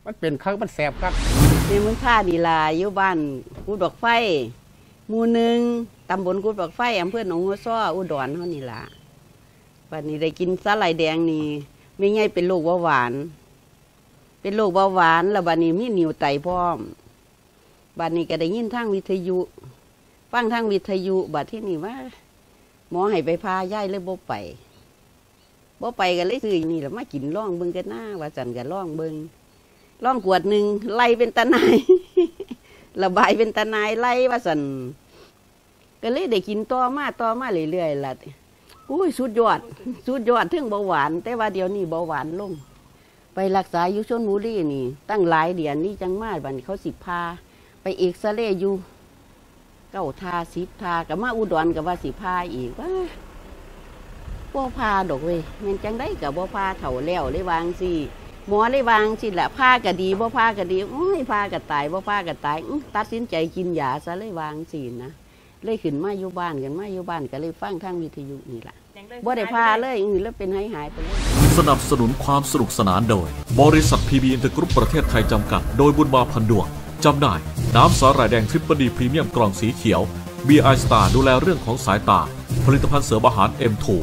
ມັນເປັນຄັກ ມັນແສບຄັກ. ແມ່ບຸນພານີ້ລະ ຢູ່ບ້ານກຸດບັກໄຟ ໝູ່ໜຶ່ງ ຕຳບົນກຸດບັກໄຟ ອຳເພີໜອງຫົວຊໍ ອຸດອນເຮົານີ້ລະ. ບາດນີ້ໄດ້ກິນສາຫຼ່າຍແດງນີ້ ແມ່ໃຫຍ່ເປັນໂລກເບົາຫວານ ເປັນໂລກເບົາຫວານ ແລ້ວບາດນີ້ມີໜິວໄຕພ້ອມ. ບາດນີ້ກໍໄດ້ຍິນທາງວິທະຍຸ ຟັງທາງວິທະຍຸ ບາດທີນີ້ວ່າໝໍໃຫ້ໄປຜ່າ ຍາຍເລີຍບໍ່ໄປ ບໍ່ໄປກໍເລີຍຊື້ນີ້ລະມາກິນລອງເບິ່ງກັນນາ ວ່າຊັ້ນ ກໍລອງເບິ່ງ ລອງຂວດໜຶ່ງ ໄລ່ເປັນຕາໜ່າຍ ລະບາຍເປັນຕາໜ່າຍ ໄລ່ວ່າຊັ້ນ ກໍເລີຍໄດ້ກິນຕໍ່ມາ ຕໍ່ມາເລື້ອຍໆລະ. ໂອ້ຍ ສຸດຍອດ ສຸດຍອດ ເຖິງເບົາຫວານ ແຕ່ວ່າດຽວນີ້ເບົາຫວານລົງ. ໄປລັກສາຢູ່ຊົນບຸລີນີ້ຕັ້ງຫຼາຍເດືອນນີ້ ຈັ່ງມາ ບາດນີ້ເຂົາຊິຜ່າ ໄປເອັກສະເຣຢູ່ເກົ້າທ່າ ສິບທ່າ ກໍມາອຸດອນກໍວ່າຊິຜ່າອີກ ວ່າບໍ່ຜ່າດອກເວີຍ ແມ່ນຈັ່ງໃດກໍບໍ່ຜ່າ ເຖົ້າແລ້ວ ເລີຍວ່າຈັ່ງຊີ້ ໝໍເລີຍວ່າຈັ່ງຊີ້ລະ. ຜ່າກໍດີ ບໍ່ຜ່າກໍດີ ໂອ້ຍ ຜ່າກໍຕາຍ ບໍ່ຜ່າກໍຕາຍ ອື ຕັດສິນໃຈກິນຢາຊະ ເລີຍວ່າຈັ່ງຊີ້ນະ. ເລີຍຂຶ້ນມາຢູ່ບ້ານ ຂຶ້ນມາຢູ່ບ້ານກໍເລີຍຟັງທາງວິທະຍຸນີ້ລະ ບໍ່ໄດ້ຜ່າເລີຍ ເລີຍເປັນຫາຍໆໄປເລີຍ. ສະໜັບສະໜູນຄວາມສະໜຸກສະໜານໂດຍ ບໍລິສັດ ພີບີ ອິນເຕີກຣຸບ ປະເທດໄທ ຈຳກັດ ໂດຍ ບຸນມາ ພັນດວງ. ຈຳໜ່າຍ ນ້ຳສາຫຼ່າຍແດງ Tripple D ພຣີມຽມ ກ່ອງສີຂຽວ. ບີ ອາຍ ສະຕາ ດູແລເລື່ອງຂອງສາຍຕາ. ຜະລິດຕະພັນເສີມອາຫານ ເອັມທູ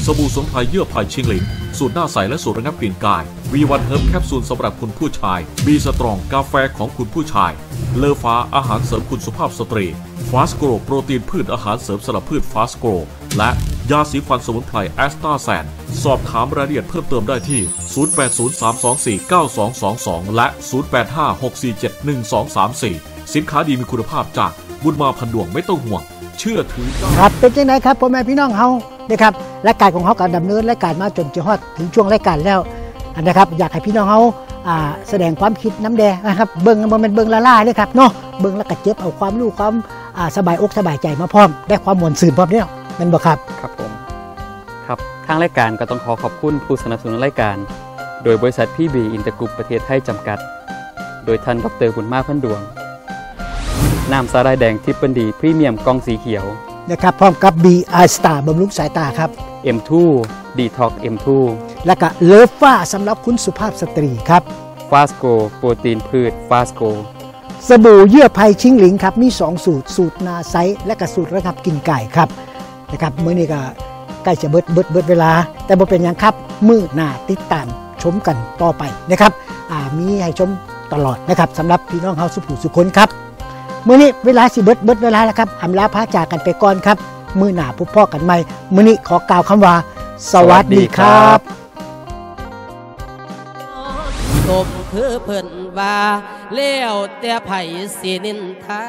ສະບູ່ສະໝຸນໄພເຍື່ອໄຜ່ ຊິງຫຼິງ ສູດໜ້າໃສ ແລະ ສູດລະງັບກິ່ນກາຍ. ວີວັນເຮີບ ແຄບຊູນສຳລັບຄຸນຜູ້ຊາຍ. ບີສະຕຣອງ ກາແຟຂອງຄຸນຜູ້ຊາຍ. ເລີຟ້າ ອາຫານເສີມຄຸນສຸພາບສະຕຣີ. ຟາສໂກຣ ໂປຣຕີນພືດ ອາຫານເສີມສຳລັບພືດ ຟາສໂກຣ ແລະ ຢາສີຟັນສະໝຸນໄພ ແອັດສະຕາແຊນ. ສອບຖາມລາຍລະອຽດເພີ່ມເຕີມໄດ້ທີ່ ສູນແປດສູນສາມສອງສີ່ເກົ້າສອງສອງສອງ ແລະ ສູນແປດຫ້າຫົກສີ່ເຈັດໜຶ່ງສອງສາມສີ່. ສິນຄ້າດີມີຄຸນນະພາບຈາກບຸນມາ ພັນດວງ ໄມ່ຕ້ອງຫ່ວງ ເຊື່ອຖືໄດ້. ຄັບ ເປັນຈັ່ງໃດຄັບ ພໍ່ແມ່ພີ່ນ້ອງເຮົາ ເດ້ຄັບ ລາຍການຂອງເຮົາກໍດຳເນີນລາຍການມາຈົນຈະຮອດເຖິງຊ່ວງລາຍການແລ້ວ ອັນນະຄັບ ຢາກໃຫ້ພີ່ນ້ອງເຮົາ ອ່າ ສະແດງຄວາມຄິດນຳແດ່ນະຄັບ ເບິ່ງ ບໍ່ແມ່ນເບິ່ງລ້າໆເດ້ຄັບເນາະ ເບິ່ງແລ້ວກໍເກັບເອົາຄວາມຮູ້ ຄວາມ ອ່າ ສະບາຍອົກສະບາຍໃຈມາພ້ອມ ແລະ ຄວາມມ່ວນຊື່ນພ້ອມເດ້ ແມ່ນບໍ່ຄັບ? ຄັບຜົມ ຄັບ ທາງລາຍການກໍຕ້ອງຂໍຂອບຄຸນຜູ້ສະໜັບສະໜູນລາຍການ ໂດຍບໍລິສັດ ພີບີ ອິນເຕີກຣຸບ ປະເທດໄທ ຈຳກັດ ໂດຍທ່ານ ດອກເຕີ ບຸນມາ ພັນດວງ. ນ້ຳສາຫຼ່າຍແດງ Tripple D ພຣີມຽມ ກ່ອງສີຂຽວ. นะครับ พร้อมกับ บี ไอ Star บำรุงสายตาครับ เอ็ม ทู Detox เอ็ม ทู และก็ Love ฟ้า สำหรับคุณสุภาพสตรีครับ Fast Grow โปรตีนพืช Fast Grow สบู่เยื่อไพชิงหลิงครับ มีสองสูตร สูตรหน้าใส และก็สูตรระงับกลิ่นก่ายครับ นะครับ มื้อนี้ก็ใกล้จะเบิด เบิด เบิดเวลา แต่บ่เป็นหยังครับ มื้อหน้าติดตามชมกันต่อไปนะครับ อ่า มีให้ชมตลอดนะครับ สำหรับพี่น้องเฮาสุผู้สุคนครับ มื้อนี้เวลาสิเบิด เบิดเวลาแล้วครับ อำลาพาจากกันไปก่อนครับ มื้อหน้าพบพ้อกันใหม่ มื้อนี้ขอกล่าวคำว่า สวัสดีครับ สมคือเพิ่นว่า แล้วแต่ไผสินินทา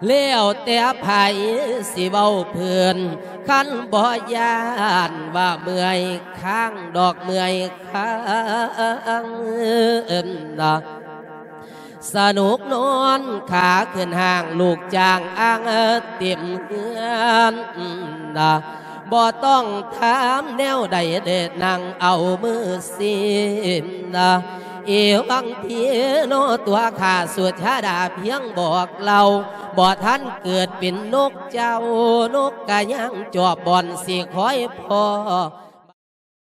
แล้วแต่ไผสิเว้าเพิ่น คันบ่ย้านว่าเมื่อยค้างดอกเมื่อยค้าง สนุกนอนขาขึ้นห้าง ลูกจ้างอ้างเต็มเฮือน บ่ต้องถามแนวใด ได้นั่งเอามือสิน เอวังพีโน ตัวข้าสุชาดาเพียงบอกเล่า บ่ทันเกิดเป็นนกเจ้า นกกะยังจอบบ่อนสิคอยพ้อ